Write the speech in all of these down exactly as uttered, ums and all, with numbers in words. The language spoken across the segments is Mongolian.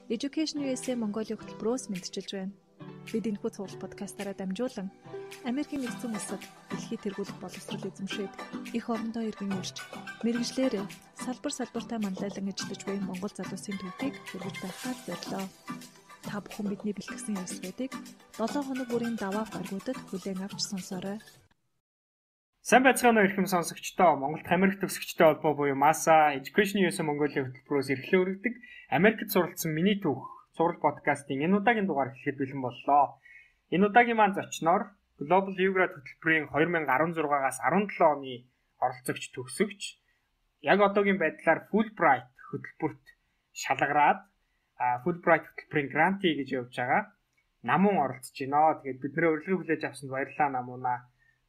Education ю эс эй Mongolia хөтөлбөрөөс мэдчилж байна. Бид энэхүү цуглал подкастаараа дамжуулан Америкийн нэгдсэн улсад дэлхийд тэргүүлэх боловсрол эзэмшээд их орондоо иргэн ирж мэргэжлэр салбар салбартаа манлайлан ажиллаж буй Монгол залуусын төвхийг хэрэгж байхаар зорилоо. Та бүхэн бидний бэлтгэсэн явцуудыг долоо хоног бүрийн даваа гаргуудад хүлээн авч сонсоорой. Сайн байцгаана уу эрхэм сонсогчдоо. Монголд Америк төгсөгчтэй холбоо буюу МАСА Education ю эс эй Mongolia хөтөлбөрөөс эрхлэн өргөдөг Америкт суралцсан миний түүх сурал подкастын энэ удаагийн дугаар эхлэхэд бэлэн боллоо. Энэ удаагийн маань зочноор Global U-Grad хөтөлбөрийн две тысячи десять-аас десет оны оролцогч төгсөгч яг одоогийн байдлаар Fulbright хөтөлбөрт шалгараад Fulbright хөтөлбөрийн грантий гэж явж байгаа намун оролцож байна. Тэгээд бидний урилга хүлээж авсанд баярлалаа намунаа.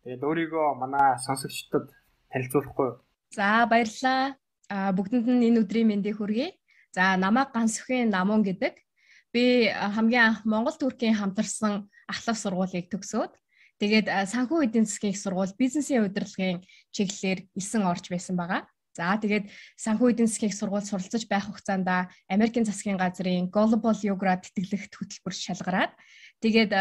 Тэгээд өөрийгөө манай сонсогчдод танилцуулахгүй юу? За баярлалаа. А бүгдэнд нь энэ өдрийн мэндийг хүргэе. За намайг Гансүхийн Намун гэдэг. Би хамгийн анх Монгол Туркийн хамтарсан ахлах сургуулийг төгсөөд тэгээд санхүү эдийн засгийн сургууль бизнесийн удирдлагын чиглэлээр элсэн орж байсан байгаа. За тэгээд санхүү эдийн засгийн сургууль суралцаж байх хугацаанд Америкийн засгийн газрын Global U-Grad тэтгэлэгт хөтөлбөр шалгараад тэгээд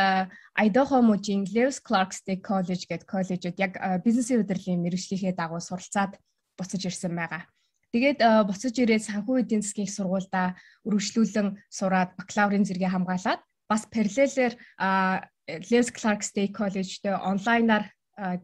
Idaho мужийн Lewis Clark State College гэдэг коллежид яг бизнесийн удирдлагын мэргэжлийнхээ дагуу суралцаад буцаж ирсэн байгаа. Тэгээд буцаж ирээд санхүү эдийн засгийн сургуультай үргэлжлүүлэн сураад бакалаврын зэрэгээ хамгаалаад бас параллелээр Lewis Clark State College-д онлайнаар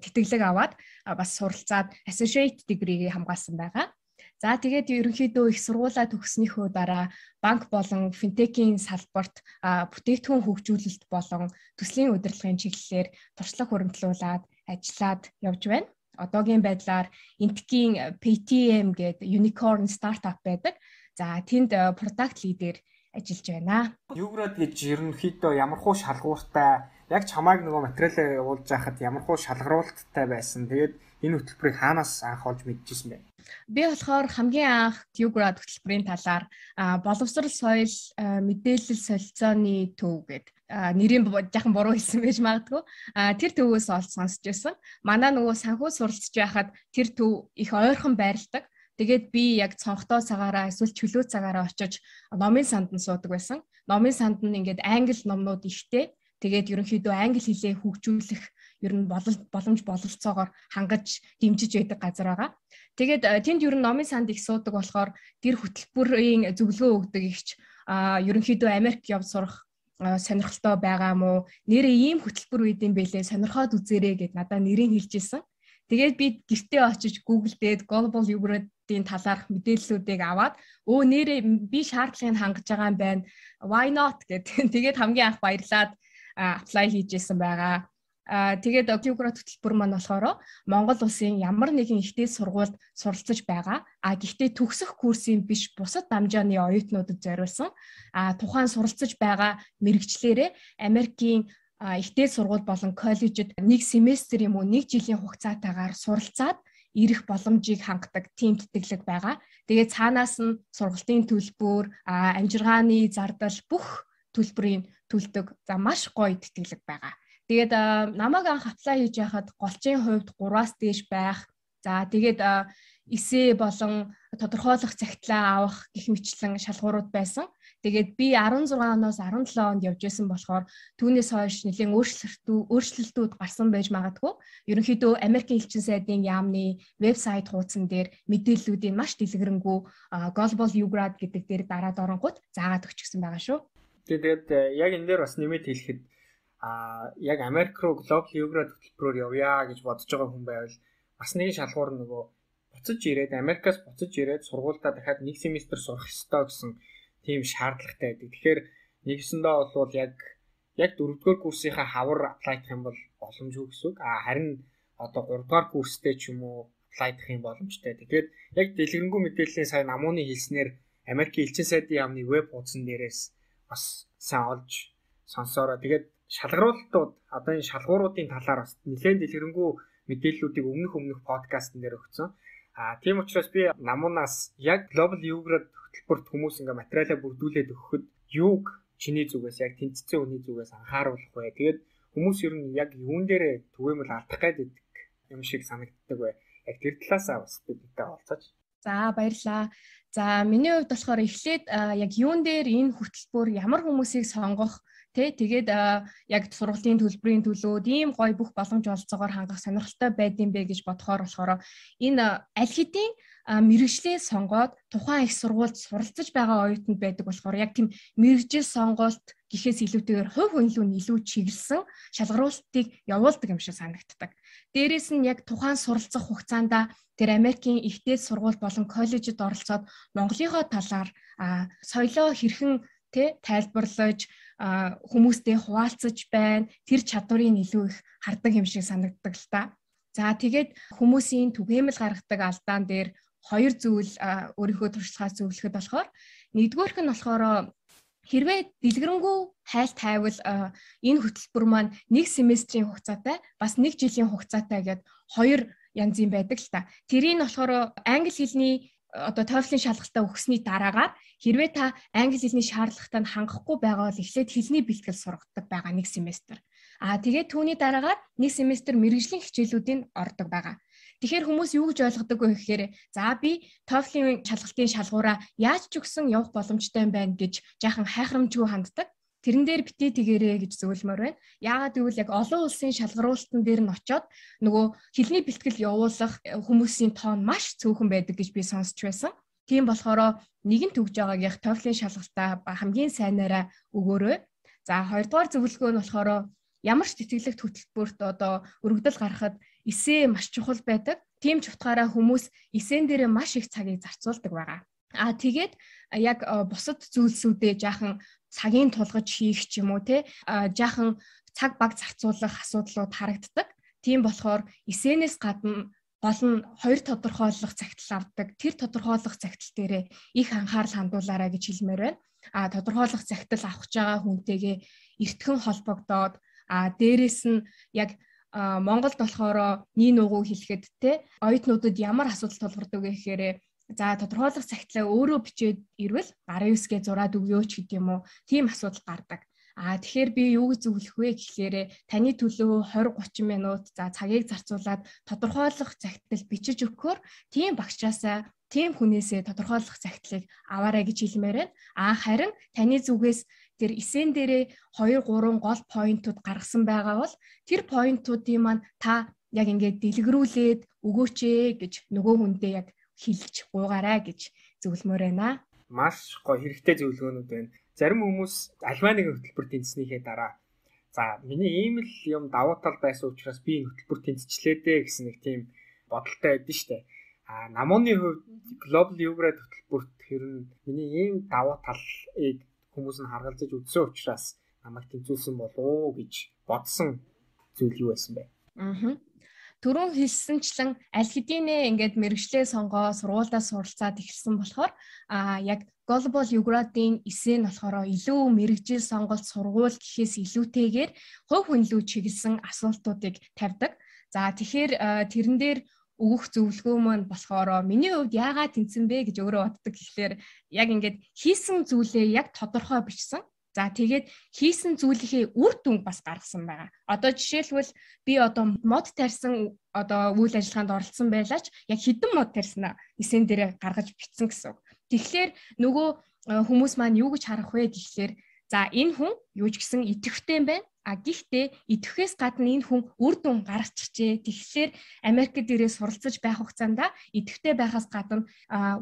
тэтгэлэг аваад бас суралцаад associate degree-г хамгаалсан байгаа. За тэгээд ерөнхийдөө их сургуулаа төгснөхийн дараа банк болон финтекийн салбарт бүтээгдэхүүн хөгжүүлэлт болон төслийн удирдлагын чиглэлээр туршлага хуримтлуулаад ажиллаад явж байна. Одоогийн байдлаар Интекийн пи ти эм гэдэг unicorn startup байдаг. За тэнд product leader ажиллаж байна. U-Grad гэж ерөнхийдөө ямархуу шалгууртай яг чамайг нөгөө материалаа явуулж байхад ямархуу шалгаруулттай байсан. Тэгээд энэ хөтөлбөрийг хаанаас анх олж мэдчихсэн бэ? Би болохоор хамгийн анх U-Grad хөтөлбөрийн талаар боловсрол соёл мэдээлэл солилцооны төв гэдэг нэрийн жаахан буруу хэлсэн байж магадгүй. Тэр төвөөс олж сонсч байсан. Манай нөгөө санхүү суралцж байхад тэр төв их ойрхон байрладаг. Тэгээд би яг цонхтой цагаараа эсвэл чөлөө цагаараа очиж номын санд нь суудаг байсан. Номын санд нь ингээд англи номнууд ихтэй. Тэгээд ерөнхийдөө англи хэлээ хөгжүүлэх ер нь боломж бололцоогоор хангаж дэмжиж байдаг газар байгаа. Тэгээд тэнд ер нь номын санд их суудаг болохоор тэр хөтөлбөрийн зөвлөгөө өгдөг ихч ерөнхийдөө Америк явж сурах сонирхолтой байгаа мó нэрээ ийм хөтөлбөр үйдэм бэлээ сонирхоод үзээрэй гэд надад нэрийг хэлж ирсэн. Тэгээд би гэртээ очиж Google дээд Global U-Grad-ийн талаарх мэдээллүүдийг аваад өө нэрээ би шаардлагыг хангаж байгаа юм байна. Why not гэд тэгээд хамгийн анх баярлаад apply хийжсэн байгаа. Аа тэгээд U-Grad хөтөлбөр маань болохоор Монгол улсын ямар нэгэн ихтэй сургуульд суралцаж байгаа. А гэхдээ төгсөх курсын биш бусад дамжааны оюутнуудад зориулсан. А тухайн суралцаж байгаа мэрэгчлэрээ Америкийн ихтэй сургууль болон коллежид нэг семестр юм уу нэг жилийн хугацаатаагаар суралцаад ирэх боломжийг хангадаг тийм тэтгэлэг байгаа. Тэгээд цаанаас нь сургалтын төлбөр, амжиргааны зардал бүх төлбөрийн төлдөг. За маш гоё тэтгэлэг байгаа. Тэгээд намайг анх apply хийж байхад голчийн хувьд гураас дээш байх. За тэгээд эсээ болон тодорхойлох цагтлаа авах гэх мэтлэн шалгуурууд байсан. Тэгээд би дөрвөн оноос дөрвөн онд явж байсан болохоор түүнээс хойш нэлээд өөрчлөлтүүд өөрчлөлтүүд гарсан байж магадгүй. Ерөнхийдөө Америкийн элчин сайдын яамны вебсайт хуудсан дээр мэдээллүүдийн маш дэлгэрэнгүй Global U-Grad гэдэг дээр дараад оронгууд заагаад өгчихсэн байгаа шүү. Тэгээд яг энэ дээр бас нэмээд хэлэхэд а яг Америк руу Global U-Grad хөтөлбөрөөр явъя гэж бодож байгаа хүн байвал бас нэг шалгуур нөгөө буцаж ирээд Америкаас буцаж ирээд сургуультай дахиад нэг семестр сурах ёстой гэсэн тийм шаардлагатай байдаг. Тэгэхээр нэгсэндээ бол яг яг дөрөвдүгээр курсынхаа хавар apply хийх юм бол боломжгүй гэсэн үг. А харин одоо гуравдугаар курстэй ч юм уу apply хийх юм боломжтой. Тэгэхээр яг дэлгэрэнгүй мэдээллийн сайн намууны хэлснээр Америкийн элчин сайдын яамны веб хуудсан дээрээс бас сайн олж сонсороо. Тэгээд шалгаруултууд одоо энэ шалгууруудын талаар бас нэлээд дэлгэрэнгүй мэдээллүүдийг өмнөх өмнөх подкастн дээр өгсөн. А тийм учраас би намуунаас яг Global U-Grad хөтөлбөрт хүмүүс ингээ материалаа бүрдүүлээд өгөхөд юуг чиний зүгээс яг тэнцсэн хүний зүгээс анхааруулах вэ? Тэгээд хүмүүс ер нь яг юун дээрээ түгээмэл алдах гэдэг юм шиг санагддаг бай. Яг тэр талаасаа бас бидэнтэй олцооч. За баярлалаа. За миний хувьд болохоор эхлээд яг юун дээр энэ хөтөлбөр ямар хүмүүсийг сонгох Тэ тэгээд яг сургуулийн төлбөрийн төлөөд ийм гоё бүх боломж олцоогоор хангах сонирхолтой байдсан бэ гэж бодохоор болохоор энэ аль хэдийн мэргэжлээ сонгоод тухайн их сургуульд суралцж байгаа оюутнууд байдаг болохоор яг тийм мэргэжил сонголт гэхээс илүүтэйгээр хувь хүн илүү илүү чиглэсэн шалгаруулалтыг явуулдаг юм шиг санагддаг. Дээрээс нь яг тухайн суралцах хугацаанд тэр Америкийн ихтэй сургууль болон коллежид оролцоод Монголынхоо талаар соёлоо хэрхэн тэ тайлбарлаж хүмүүстэй хуваалцаж байна. Тэр чадварыг илүү их хардаг юм шиг санагддаг л та. За тэгээд хүмүүсийн түгээмэл гаргадаг алдаан дээр хоёр зүйл өөрийнхөө туршлагаас зөвлөхөд болохоор нэгдүгээрх нь болохоор хэрвээ дэлгэрэнгүй хайл тайвал энэ хөтөлбөр маань нэг семестрийн хугацаатай бас нэг жилийн хугацаатай гэдэг хоёр янзын байдаг л та. Тэрийг нь болохоор англи хэлний одоо TOEFL-ийн шалгалтаа өгсөний дараагаар хэрвээ та англи хэлний шаардлагатай хангахгүй байгаа бол эхлээд хэлний бэлтгэл сургадаг байгаа нэг семестр. Аа тэгээд түүний дараагаар нэг семестр мэргэжлийн хичээлүүдийг ордог байгаа. Тэгэхээр хүмүүс юу гэж ойлгодог вэ гэхээр за би TOEFL-ийн шалгалтын шалгуураа яаж ч өгсөн явах боломжтой юм байна гэж жаахан хайхрамжгүй ханддаг. Тэрэн дээр битээ тэгэрээ гэж зөвлөмөр байна. Яагаад гэвэл яг олон улсын шалгаруулалтан дээр нь очиод нөгөө хэлний бэлтгэл явуулах хүмүүсийн тоон маш цөөхөн байдаг гэж би сонсч байсан. Тийм болохоор нэгэн төгж байгаагийн TOEFL-ийн шалгалтаа хамгийн сайнаараа өгөөрэй. За хоёрдугаар зөвлөгөө нь болохоор ямар ч тэтгэлэгт хөтөлбөрт одоо өргөдөл гаргахад эсээ маш чухал байдаг. Тийм ч утгаараа хүмүүс эсэн дээрээ маш их цагийг зарцуулдаг байгаа. Аа тэгээд яг бусад зүйлсүүдээ жаахан цагийн тулгаж хийх ч юм уу те жаахан цаг баг зарцуулах асуудлууд харагддаг. Тийм болохоор эсэнээс гадна гол нь хоёр тодорхойлох цагтл авдаг. Тэр тодорхойлох цагтл дээрээ их анхаарал хандуулаарай гэж хэлмээр байна. А тодорхойлох цагтл авах гэж байгаа хүнтэйгээ эртхэн холбогдоод а дээрэс нь яг Монголд болохоор нийн угуу хэлэхэд те оюутнуудад ямар асуудал тулгардаг вэ гэхээр за тодорхойлох цагтлаа өөрөө бичээд ирвэл гарын үсгээ зураад өгөөч гэдэг юм уу. Тийм асуудал гардаг. Аа тэгэхээр би юу гэж зөвлөх вэ гэхээр таны төлөө двадцать тридцать минут за цагийг зарцуулаад тодорхойлох цагтл бичиж өгөхөөр тийм багшаасаа тийм хүнээсээ тодорхойлох цагтлыг аваарай гэж хэлмээр байна. Аа харин таны зүгээс тэр эсэн дээрээ хоёр гурван гол поинтууд гаргасан байгаа бол тэр поинтуудын маань та яг ингээд дэлгэрүүлээд өгөөч ээ гэж нөгөө хүндээ яг хэлж гуугаарай гэж зөвлөмөр байна. Маш гоё хэрэгтэй зөвлөгөөнүүд байна. Зарим хүмүүс альва нэг хөтөлбөр тэнцснийхээ дараа за миний ийм л юм давуу тал байсан учраас би энэ хөтөлбөр тэнцчлээ дээ гэсэн нэг тийм бодолтой байдсан шүү дээ. А намууны хувьд Global Eurograd хөтөлбөрт хэрэн миний ийм давуу талыг хүмүүс нь харгалзаж үзсэн учраас намайг тэнцүүлсэн болов уу гэж бодсон зүйл юу байсан бэ? Аа. Түрүүн хэлсэнчлэн аль хэдийнэ ингээд мэргэжлээ сонгоо сургуульдаа суралцаад эхэлсэн болохоор а яг Global Eurograd-ийн эсээ нь болохоор илүү мэргэжил сонголт сургууль гэхээс илүүтэйгээр хувь хүн илүү чиглэсэн асуултуудыг тавьдаг. За тэгэхээр тэрэн дээр өгөх зөвлөгөө маань болохоор миний хувьд яагаад тэнцэн бэ гэж өөрөө боддог гэхлээр яг ингээд хийсэн зүйлээ яг тодорхой бичсэн. За тэгээд хийсэн зүйлийнхээ үр дүнг бас гаргасан байгаа. Одоо жишээлбэл би одоо мод тарьсан одоо үйл ажиллагаанд оролцсон байлаач яг хэдэн мод тарьснаа эсэн дээрээ гаргаж бичсэн гэсэн үг. Тэгэхээр нөгөө хүмүүс маань юу гэж харах вэ гэхлээр за энэ хүн юу ч гэсэн идэвхтэй юм байна. А гэхдээ идэвхээс гадна энэ хүн үр дүн гаргачихжээ. Тэгэхээр Америкт дээрээ суралцаж байх хугацаанд идэвхтэй байхаас гадна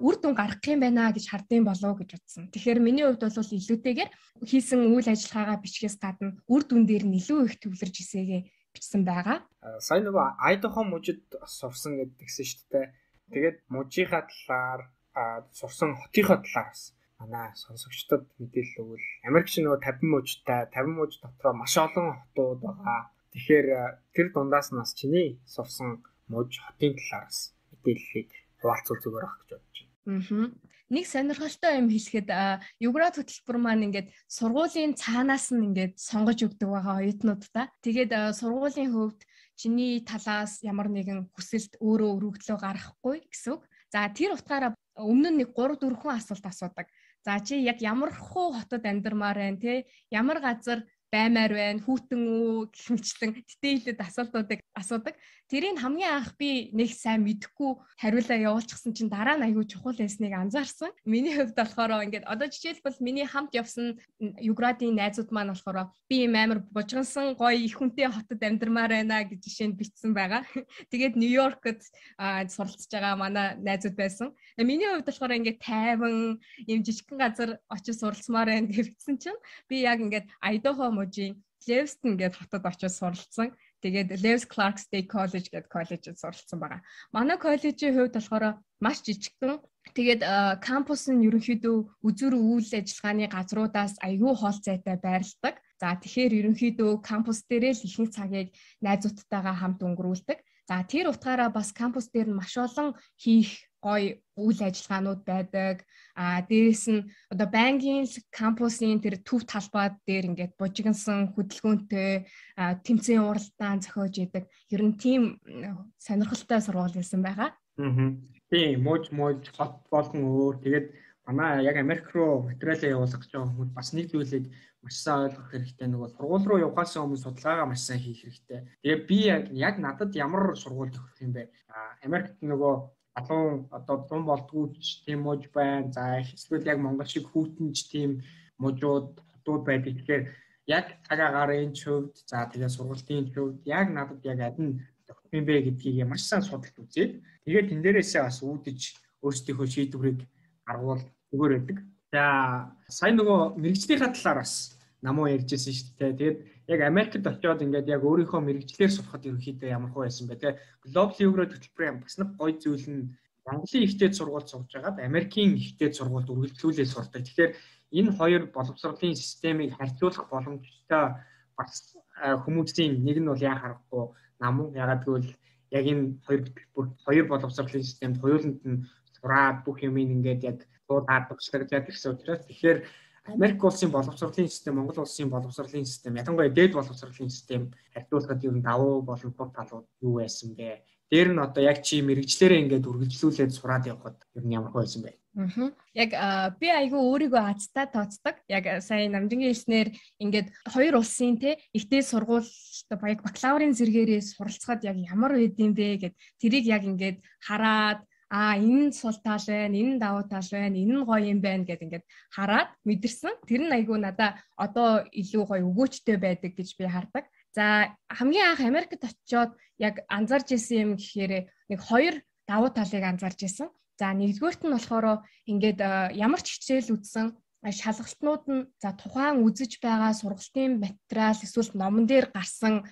үр дүн гаргах юм байна гэж хардсан болов гэж утсан. Тэгэхээр миний хувьд бол илүүтэйгээр хийсэн үйл ажиллагаагаа бичгээс гадна үр дүн дээр нь илүү их төвлөрж исээгээ бичсэн байгаа. Сайн нөгөө Айдахо мужид сурсан гэдгсэн шүү дээ. Тэгээд мужийнхаа талаар сурсан хотынхоо талаар бас манай сонсогчдод мэдээлэл өгвөл Америкч нөгөө тавин мужтай тавин муж дотроо маш олон хотууд байгаа. Тэгэхээр тэр дундаас нас чиний сурсан муж хотын талаараас мэдээллийг хуваалцвал зүгээр ах гэж бодож байна. Аа. Нэг сонирхолтой юм хэлэхэд Eurograd хөтөлбөр маань ингээд сургуулийн цаанаас нь ингээд сонгож өгдөг байгаа оюутнуудаа. Тэгээд сургуулийн хувьд чиний талаас ямар нэгэн хүсэлт өөрөө өргөдлөө гаргахгүй гэсэн үг. За тэр утгаараа өмнө нь нэг гурав дөрвөн хүн асуулт асуудаг. За чи яг ямар хуу хотод амьдармаар байна те ямар газар баймаар байна хүүтэн үү гэх мэтчлэн дэтейлэд асуултуудыг асуудаг. тэрийг хамгийн анх би нэг сайн мэдэхгүй хариулаа явуулчихсан чинь дараа нь аягүй чухал байсныг анзаарсан. Миний хувьд болохоор ингээд одоо жишээлбэл миний хамт явсан Юградын найзууд маань болохоор би юм амар бужгансан гоё их хүнтэй хотод амьдармаар байна гэж жишээнд бичсэн байгаа. Тэгээд Нью-Йоркд суралцж байгаа манай найзууд байсан. Миний хувьд болохоор ингээд тайван юм жижигхэн газар очиж суралцмаар байна гэж бичсэн чинь би яг ингээд Idaho мужийн Lewiston гэдэг хотод очиж суралцсан. Тэгээд Lewis Clark State College гэдэг коллежид суралцсан байгаа. Манай коллежийн хувьд болохоор маш жижигхэн. Тэгээд кампус нь ерөнхийдөө үзүр үйл ажиллагааны газруудаас аягүй хоол зайтай байрладаг. За тэгэхээр ерөнхийдөө кампус дээрээ л ихэнх цагийг найзуудтайгаа хамт өнгөрүүлдэг. За тэр утгаараа бас кампус дээр нь маш олон хийх гоё үйл ажиллагаанууд байдаг. А дээрэс нь одоо банкийн кампусын тэр төв талбай дээр ингээд бужигнсан хөдөлгөөнтэй тэмцээн уралдаан зохиож идэг. Ер нь тийм сонирхолтой сургууль байсан байгаа. Аа. Тийм, мууж мууж хот болгон өөр. Тэгээд манай яг Америк руу материалаа явуулах гэж байгаа хүмүүс бас нэг зүйлийг маш сайн ойлгох хэрэгтэй. Нөгөө сургууль руу явахаас өмнө судалгаагаа маш сайн хийх хэрэгтэй. Тэгээд би яг яг надад ямар сургууль төгсөх юм бэ? Америкт нөгөө алуун одоо дун болдгооч тийм мууж байна. За эсвэл яг Монгол шиг хүүтэнж тийм мужууд хотууд байдаг. Тэгэхээр яг цагаагарын хувьд за тэгээд сургуулийн хувьд яг надад яг адин төгсөх юм бэ гэдгийг маш сайн судалж үзээд тэгээд тэн дээрээсээ бас үүдэж өөрсдийнхөө шийдвэрийг аргуул зүгээр байдаг. За сайн нөгөө мэрэгжлийнхаа талаар бас намуу ярьжсэн шүү дээ. Тэгээд яг Америкт очиод ингээд яг өөрийнхөө мэрэгчлэр сурахад ерөнхийдөө ямар хөө байсан бэ те. Global Euro хөтөлбөрийн бас нэг гоё зүйл нь Монголын ихтэй сургууль сурж байгаад Америкийн ихтэй сургуульд үргэлжлүүлээ сурдаг. Тэгэхээр энэ хоёр боловсролын системийг харьцуулах боломжтой бас хүмүүсийн нэг нь бол яа харахгүй намуу ягаад гэвэл яг энэ хоёр хоёр боловсролын системд хоёуланд нь сураад бүх юм ингээд яг дуудаад багшлах гэсэн учраас тэгэхээр Америк улсын боловсролын систем, Монгол улсын боловсролын систем, ялангуяа дээд боловсролын систем харьцуулахад ер нь давуу болон тул талууд юу байсан бэ? Дээр нь одоо яг чи мэрэгчлэрээ ингээд үргэлжлүүлээд сураад явхад ер нь ямар байсан бэ? Аа. Яг би айгүй өөрийгөө азтай тооцдог. Яг сая намжингийн хэлснээр ингээд хоёр улсын те ихтэй сургуульд баяг бакалаврын зэрэгээрээ суралцахад яг ямар байд юм бэ гэд тэрийг яг ингээд хараад а энэ сул тал байна, энэ давуу тал байна, энэ нь гоё юм байна гэд ингээд хараад мэдэрсэн. Тэр нь айгүй надаа одоо илүү гоё өгөөчтэй байдаг гэж би хардаг. За хамгийн анх Америкт очиод яг анзаарч ирсэн юм гэхээр нэг хоёр давуу талыг анзаарч ирсэн. За нэгдүгээрт нь болохоор ингээд ямар ч хичээл үзсэн шалгалтнууд нь за тухайн үзэж байгаа сургалтын материал эсвэл номон дээр гарсан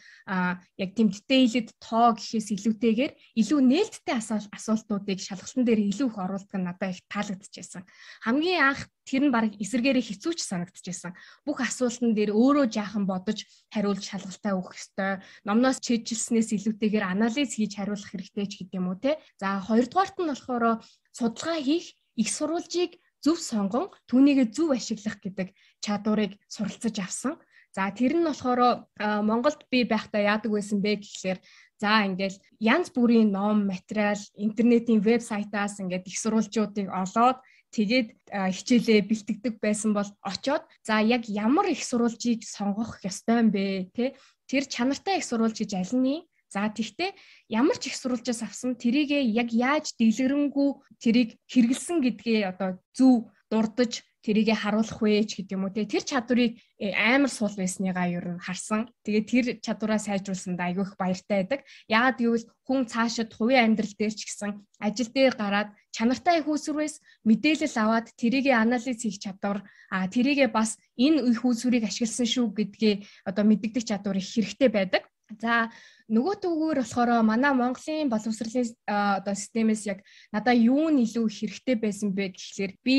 яг тийм дэтейлэд тоо гэхээс илүүтэйгээр илүү нээлттэй асуултуудыг шалгалтын дээр илүү их оруулдаг нь надад их таалагдчихсан. Хамгийн анх тэр нь баг эсэргээрээ хэцүүч санагдчихсан. Бүх асуултан дээр өөрөө жаахан бодож хариулж шалгалтаа өгөх ёстой. Номноос чийжилснээс илүүтэйгээр анализ хийж хариулах хэрэгтэй ч гэдэм үү те. За хоёрдугаарт нь болохоор судалгаа хийх их сурвалжийг зөв сонгон түүнийгээ зөв ашиглах гэдэг чадварыг суралцаж авсан. За тэр нь болохоор Монголд би байхдаа яадаг байсан бэ гэхлээр за ингээл янз бүрийн ном, материал, интернетийн вебсайтаас ингээд их сурвалжуудыг олоод тэгээд хичээлээ бэлтгэдэг байсан бол очоод за яг ямар их сурвалжийг сонгох ёстой юм бэ те тэр чанартай их сурвалж гэж аль нь за тэгтээ ямар ч их сурвалжаас авсан тэрийгээ яг яаж дэлгэрэнгүй тэрийг хэрэгэлсэн гэдгээ одоо зөв дурдж тэрийгээ харуулах вэ ч гэдэг юм уу те тэр чадварыг амар суул байсныгаа ер нь харсан. Тэгээд тэр чадвараа сайжруулсанд айгүй их баяртай байдаг. Яагаад гэвэл хүн цаашид хувийн амьдрал дээр ч гэсэн ажил дээр гараад чанартай их үүсвэрээс мэдээлэл аваад тэрийгээ анализ хийх чадвар а тэрийгээ бас энэ их үүсвэрийг ашигласан шүү гэдгээ одоо мэддэг чадвар их хэрэгтэй байдаг. За нөгөө төвгөр болохоор манай Монголын боловсролын одоо системээс яг надаа юу нь илүү хэрэгтэй байсан бэ гэхлээр би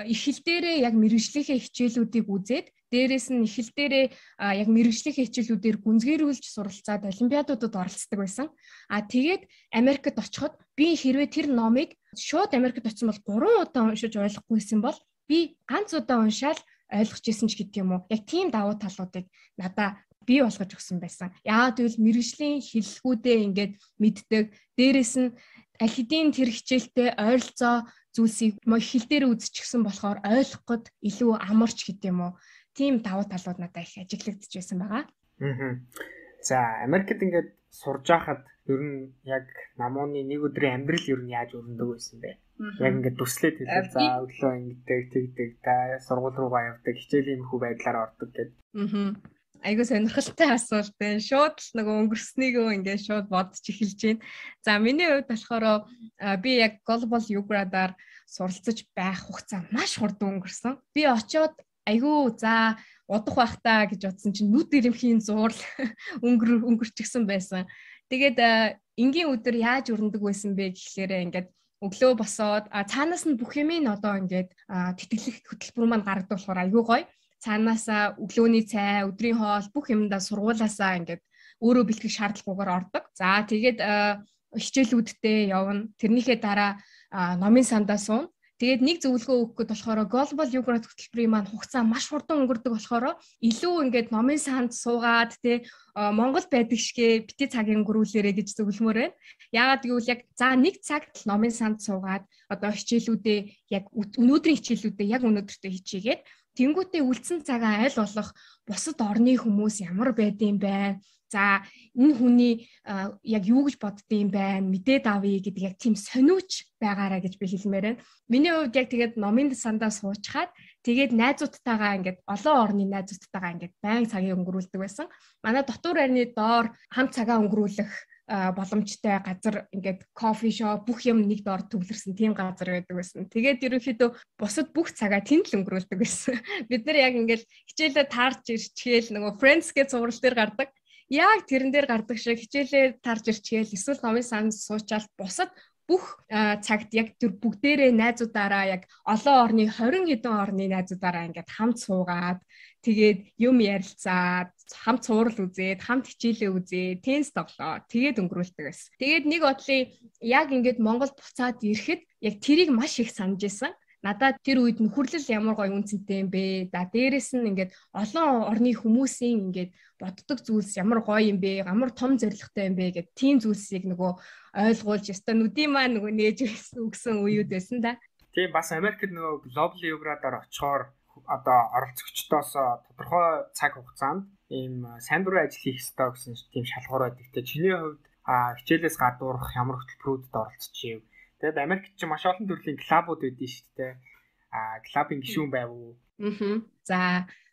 их хэл дээрээ яг мэргэжлийнхээ хичээлүүдийг үзээд дээрээс нь их хэл дээрээ яг мэргэжлийнхээ хичээлүүдээр гүнзгийрүүлж суралцаад олимпиадуудад оролцдог байсан. А тэгээд Америкт очиход би хэрвээ тэр номыг шууд Америкт очсон бол гурван удаа уншиж ойлгохгүйсэн бол би ганц удаа уншаал ойлгож ирсэн ч гэдэг юм уу. Яг тийм давуу талуудыг надаа бий болгож өгсөн байсан. Яагаад гэвэл мэргэжлийн хэллэгүүдээ ингээд мэддэг. Дээрээс нь аль хэдийн тэр хичээлтэй ойролцоо зүйлсийг хэл дээр үзчихсэн болохоор ойлгоход илүү амарч гэдэг юм уу. Тийм давуу талууд надад их ажиглагдчихсэн байгаа. Аа. За Америкт ингээд сурж байхад ер нь яг намууны нэг өдрийн амьдрал ер нь яаж өрнөдөг байсан бэ? Яг ингээд дүслээд хэлээ. За өглөө ингэдэг, тэгдэг, та сургууль руугаа явдаг, хичээлийн хүү байдлаар ордог гэдэг. Аа. Айгуу сонирхолтой асуулт байна. Шууд л нөгөө өнгөрснийгөө ингээд шууд бодож эхэлж байна. За миний хувьд болохоор би яг Global Yoga-аар суралцаж байх хугацаа маш хурдан өнгөрсөн. Би очиод айгуу за удах байх та гэж бодсон чинь нүд ирэмхийн зуурл өнгөр өнгөрчихсэн байсан. Тэгээд энгийн өдөр яаж өрнөдөг байсан бэ гэхлээрээ ингээд өглөө босоод цаанаас нь бүх юмыг одоо ингээд тэтгэлэх хөтөлбөр маань гаргадаг болохоор айгүй гоё. Цаанаасаа өглөөний цай, өдрийн хоол бүх юмдаа сургуулаасаа ингээд өөрөө бэлтгэх шаардлагагүйгээр ордог. За тэгээд хичээлүүдтэй явна. Тэрнийхээ дараа номын сандаа суuna. Тэгээд нэг зөвлөгөө өгөх гээд болохоор Global Yoga хөтөлбөрийн маань хугацаа маш хурдан өнгөрдөг болохоор илүү ингээд номын санд суугаад тэ Монгол байдаг шигэ бити цагийн өнгөрүүлээрэ гэж зөвлөмөр байна. Яагаад гэвэл яг за нэг цагт л номын санд суугаад одоо хичээлүүдээ яг өнөөдрийн хичээлүүдээ яг өнөөдөртөө хичээгээд тэнгуүтээ үлдсэн цагаа аль болох бусад орны хүмүүс ямар байдığım бэ? За энэ хүний яг юу гэж боддığım бэ? Мэдээд авъя гэдэг яг тийм сониуч байгаараа гэж би хэлмээр байна. Миний хувьд яг тэгээд номын сандаа суучгаад тэгээд найзуудтайгаа ингээд олон орны найзуудтайгаа ингээд байн цагийг өнгөрүүлдэг байсан. Манай дотор байрны доор хамт цагаа өнгөрүүлэх боломжтой газар ингээд кофе шоп бүх юм нэг доор төвлөрсөн тийм газар байдаг байсан. Тэгээд ерөнхийдөө бусад бүх цагаа тэнд л өнгөрүүлдэг байсан. Бид нар яг ингээд хичээлээ таарч ирчихээл нөгөө Friends гэж цуврал дээр гардаг. Яг тэрэн дээр гардаг шиг хичээлээ таарч ирчихээл эсвэл номын санд суучаал бусад бүх цагт яг тэр бүгдээрээ найзуудаараа яг олон орны хорин хэдэн орны найзуудаараа ингээд хамт суугаад тэгээд юм ярилцаад хамт цуврал үзээд хамт хичээлээ үзээд теннис тоглоо тэгээд өнгөрүүлдэг байсан. Тэгээд нэг бодлын яг ингээд Монгол буцаад ирэхэд яг тэрийг маш их санаж исэн. Надад тэр үед нөхөрлөл ямар гоё үнцэнтэй юм бэ? За дээрэс нь ингээд олон орны хүмүүсийн ингээд боддог зүйлс ямар гоё юм бэ? Ямар том зоригтой юм бэ гэдэг тийм зүйлсийг нөгөө ойлгуулж яста нүдийн маань нөгөө нээж өгсөн үеуд байсан да. Тийм бас Америкт нөгөө Global Yoga-аар очихоор одоо оролцогчдоос тодорхой цаг хугацаанд ийм сайн дурын ажил хийх ёстой гэсэн тийм шалгуур байдаг. Тэ чиний хувьд хичээлээс гадуурх ямар хөтөлбөрүүдэд оролцчихив? Тэгээд Америкт ч маш олон төрлийн клубууд байдсан шүү дээ. Аа, клубын гишүүн байв уу? Аа. За,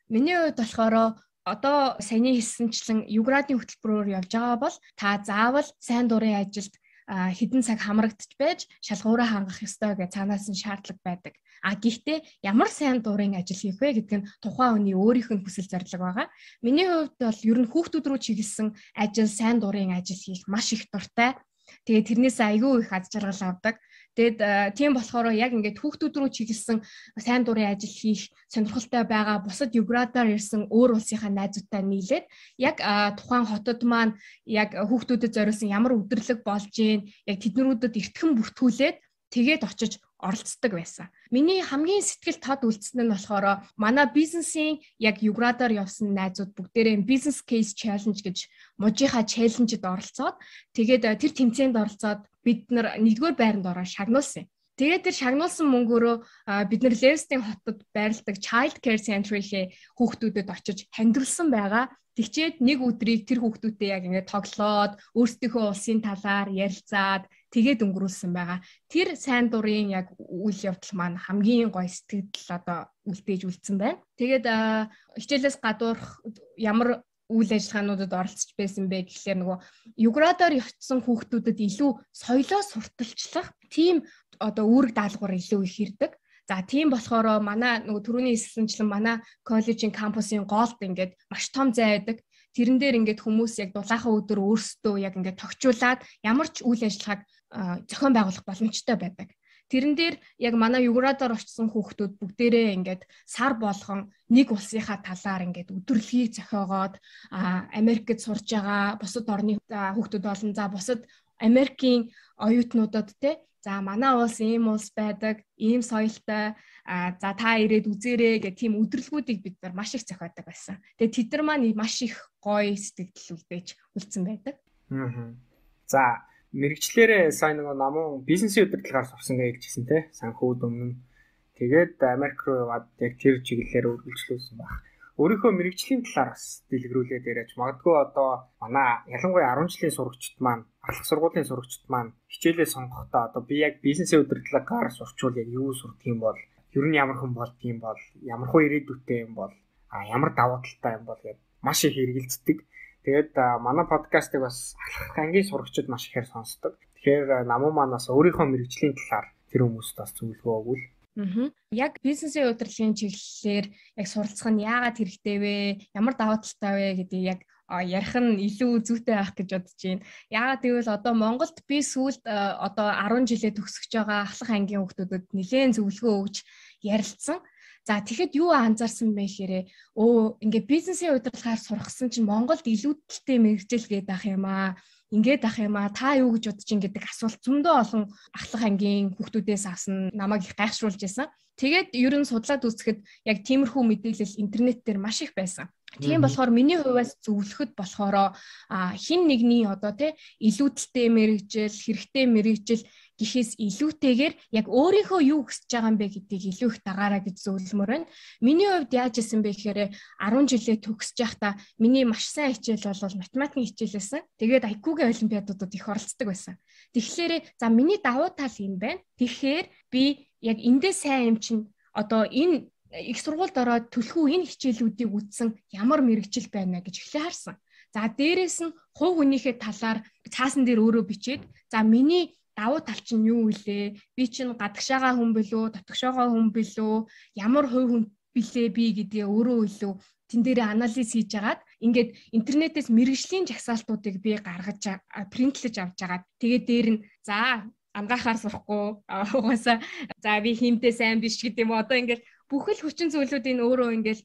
миний хувьд болохоор одоо саяны хэлсэнчлэн Юградын хөтөлбөрөөр явж байгаа бол та заавал сайн дурын ажилд хэдэн цаг хамрагдчих байж шалгуураа хангах ёстой гэж цаанаас нь шаардлага байдаг. А гэхдээ ямар сайн дурын ажил хийх вэ гэдэг нь тухайн хүний өөрийнх нь хүсэл зорилго байгаа. Миний хувьд бол ер нь хүүхдүүд рүү чиглэсэн ажил, сайн дурын ажил хийх маш их дуртай. Тэгээд тэрнээс айгүй их аз жаргал авдаг. Тэгээд тийм болохоор яг ингээд хүүхдүүд рүү чиглэсэн сайн дурын ажил хийх сонирхолтой байгаа бусад Юградаар ирсэн өөр улсынхаа найзуудтай нийлээд яг тухайн хотод маань яг хүүхдүүдэд зориулсан ямар өдрлөг болж гин яг тэднэрүүдэд эртхэн бүртгүүлээд тэгээд очиж оролцдог байсан. Миний хамгийн сэтгэл тод үлдсэн нь болохоор манай бизнесийн яг Юградаар явсан найзууд бүгдээрээ бизнес кейс чаленж гэж мужийнхаа чаленжид оролцоод тэгээд тэр тэмцээнд оролцоод бид нар нэгдүгээр байранд ороод шагнуулсан. Тэгээд тэр шагнуулсан мөнгөөрөө бид нар Левстийн хотод байрладаг Child Care Center-ийн хүүхдүүдэд очиж хандивлсан байгаа. Тэгчээд нэг өдрийг тэр хүүхдүүдтэй яг ингээд тоглоод өөрсдийнхөө улсын талаар ярилцаад тэгээд өнгөрүүлсэн байгаа. Тэр сайн дурын яг үйл явдал маань хамгийн гоё сэтгэл одоо үлдээж үлдсэн байна. Тэгээд хичээлээс гадуурх ямар үйл ажиллагаануудад оролцож байсан бэ гэхлээр нөгөө Юградаар явцсан хүүхдүүдэд илүү соёлоо сурталчлах тийм одоо үүрэг даалгавар илүү их ирдэг. За тийм болохоор манай нөгөө түрүүний хэлсэнчлэн манай коллежийн кампусын голд ингээд маш том зай байдаг. Тэрэн дээр ингээд хүмүүс яг дулаахан өдөр өөрсдөө яг ингээд тогтчуулаад ямар ч үйл ажиллагааг зохион байгуулах боломжтой байдаг. Тэрэн дээр яг манай Юградаар очсон хүүхдүүд бүгдээрээ ингээд сар болгон нэг улсынхаа талаар ингээд өдөрлөгийг зохиогоод Америкт сурж байгаа бусад орны хүүхдүүд болон за бусад Америкийн оюутнуудад те за манай улс ийм улс байдаг, ийм соёлтой, за та ирээд үзээрэй гэх тийм өдрөлгүүдийг бид нар маш их зохиодог байсан. Тэгээ тэд нар маань маш их гоё сэтгэл үлдээж үлдсэн байдаг. Аа. За мэрэгчлэрээ сайн нөгөө намун бизнесийн удирдлагаар сурсан гэж хэлжсэн те санхүүд өмнө тэгээд Америк руу яваад яг тэр чиглэлээр үргэлжлүүлсэн баг. өөрийнхөө мэрэгжлийн талаар бас дэлгэрүүлээд яриач. Магадгүй одоо манай ялангуяа арван жилийн сурагчид маань, ахлах сургуулийн сурагчид маань хичээлээ сонгохдоо одоо би яг бизнесийн удирдлагаар сурчвал яг юу сурдаг юм бол, ер нь ямар хүн болдгийм бол, ямар хөө ирээдүйтэй юм бол, а ямар давуу талтай юм бол гэдэг маш их хэрэгэлцдэг. Тэгээд манай подкастыг бас ахлах ангийн сурагчид маш ихээр сонсдог. Тэгэхээр намуу маань бас өөрийнхөө мэрэгжлийн талаар тэр хүмүүст бас зөвлөгөө өгвөл. Аа. Яг бизнесийн удирдлагын чиглэлээр яг суралцах нь яагаад хэрэгтэй вэ? Ямар давуу талтай вэ гэдэг яг ярих нь илүү зүйтэй байх гэж бодож байна. Яагаад гэвэл одоо Монголд би сүүлд одоо арван жилээ төгсөж байгаа ахлах ангийн хүүхдүүдэд нэлээд зөвлөгөө өгч ярилцсан. За тэгэхэд юу анзаарсан бэ гэхээр өө ингээ бизнесийн удирдлагаар сурахсан чинь Монголд илүүдэлтэй мэргэжил гээд ах юм аа. Ингээд ах юм аа. Та юу гэж бодож ин гэдэг асуулт зөндөө олон ахлах ангийн хүүхдүүдээс авсан намайг их гайхшруулж байсан. Тэгээд ер нь судлаад үзэхэд яг тиймэрхүү мэдээлэл интернет дээр маш их байсан. Тийм болохоор миний хувьас зөвлөхөд болохоор хин нэгний одоо тий илүүдэлтэй мэргэжил, хэрэгтэй мэргэжил гэхээс илүүтэйгээр яг өөрийнхөө юу хүсэж байгаа юм бэ гэдгийг илүү их дагаараа гэж зөвлөмөр байна. Миний хувьд яаж исэн бэ гэхээр арван жилээ төгсөж байхдаа миний маш сайн хичээл бол математикийн хичээл байсан. Тэгээд ай кью-гийн олимпиадуудад их оролцдог байсан. Тэгэхээр за миний давуу тал юм байна. Тэгэхээр би яг эндээ сайн юм чинь одоо энэ их сургуульд ороод төлхөө энэ хичээлүүдийг үзсэн ямар мэрэгжил байна гэж эхлээ харсан. За дээрэс нь хувь хүнийхээ талаар цаасан дээр өөрөө бичээд за миний давуу тал чинь юу вэ? Би чинь гадагшаага хүн билүү, дотгошоогоо хүн билүү, ямар хувь хүн билээ би гэдгээ өөрөө илүү тэн дээр анализ хийж агаад ингээд интернетээс мэрэгжлийн жагсаалтуудыг би гаргаж принтлэж авч агаад тэгээд дээр нь за ангаахаар сурахгүй угаасаа за би хиймтэй сайн биш гэдэг юм. Одоо ингээд бүхэл хүчин зүйлүүдийн өөрөө ингээд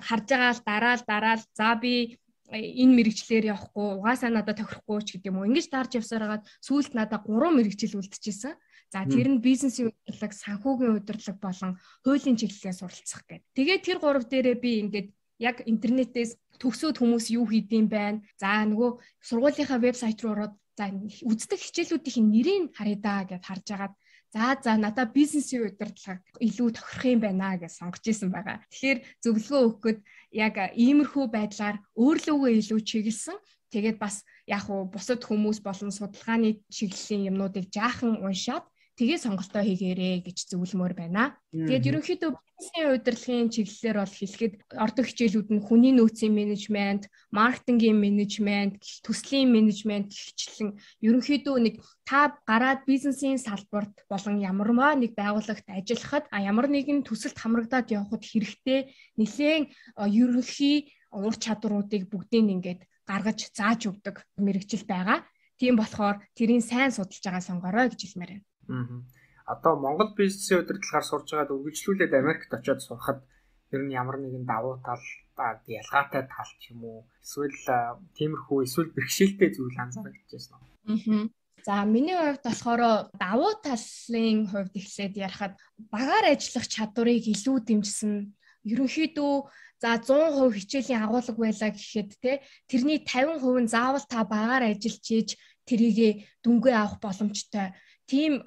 харж байгаа л дараал дараал за би энэ мэрэгчлэр явахгүй угаасаа надад тохирохгүй ч гэдэг юм уу. Ингэж дарж явсараад сүүлд надад гурван мэрэгжил үлдчихсэн. За тэр нь бизнесийн удирдлага, санхүүгийн удирдлага болон хуулийн чиглэлээр суралцах гэдэг. Тэгээд тэр гурав дээрээ би ингээд яг интернетээс төгсөөд хүмүүс юу хийдэм байна. За нөгөө сургуулийнхаа вебсайт руу ороод за үздэг хичээлүүдийн нэрийг харъя да гэж харж агаад за за надад бизнесийн удирдлага илүү тохирох юм байна гэж сонгож исэн байгаа. Тэгэхээр зөвлөгөө өгөхөд яг иймэрхүү байдлаар өөрлөгөө илүү чиглэсэн. Тэгээд бас яг уу бусад хүмүүс болон судалгааны чиглэлийн юмнуудыг жаахан уншаад тэгээ сонголтоо хийгээрэй гэж зөвлөмөр байна. Тэгээд ерөнхийдөө бизнесийн удирдлагын чиглэлээр бол хэлэхэд ордог хичээлүүд нь хүний нөөцийн менежмент, маркетингийн менежмент, төслийн менежмент гихчлэн ерөнхийдөө нэг та гараад бизнесийн салбарт болон ямарваа нэг байгууллагт ажиллахад а ямар нэгэн төсөлд хамрагдаад явхад хэрэгтэй нэлээд ерөнхий ур чадваруудыг бүгдийг ингээд гаргаж зааж өгдөг мэрэгжил байгаа. Тийм болохоор тэрийг сайн судалж байгаа сонгорой гэж хэлмээр байна. Аа. Одоо Монгол бизнесийн удирдлагаар сурж байгаад үргэлжлүүлээд Америкт очиод сурахад ер нь ямар нэгэн давуу тал, ялгаатай тал ч юм уу эсвэл тиймэрхүү эсвэл бэрхшээлтэй зүйл анзаарчихсан уу? Аа. За миний хувьд болохоор давуу талын хувьд эхлээд ярихад багаар ажиллах чадварыг илүү дэмжсэн. Ерөнхийдөө за зуун хувь хичээлийн агуулга байлаа гэхэд те тэрний тавин хувь нь заавал та багаар ажиллаж ийж тэрийгэ дүнгээ авах боломжтой. Тим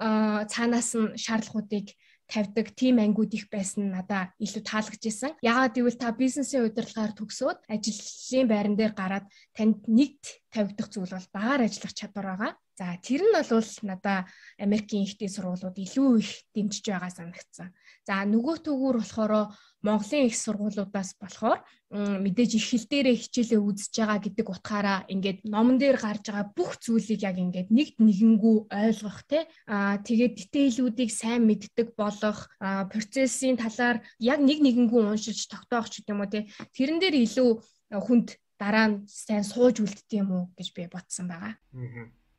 цаанаас нь шаардлагуудыг тавьдаг тим ангиуд их байсан надад илүү таалагдж исэн. Яагаад гэвэл та бизнесийн удирдлагаар төгсөөд ажлын байран дээр гараад танд нэгт тавигдах зүйл бол багаар ажиллах чадвар байгаа. За тэр нь бол надад Америкийн ихтэй сургуулиуд илүү их дэмжиж байгаа санагдсан. За нөгөө төгөөр болохоор Монголын их сургуулиудаас болохоор мэдээж их хэл дээрээ хичээлээ үзэж байгаа гэдэг утгаараа ингээд номон дээр гарч байгаа бүх зүйлийг яг ингээд нэгт нэгэнгүү ойлгох те аа тэгээд дитейлүүдийг сайн мэддэг болох процессын талаар яг нэг нэгэнгүү уншиж тогтоох ч гэдэг юм уу те тэрэн дээр илүү хүнд дараа нь сайн сууж үлддэг юм уу гэж би бодсон байгаа.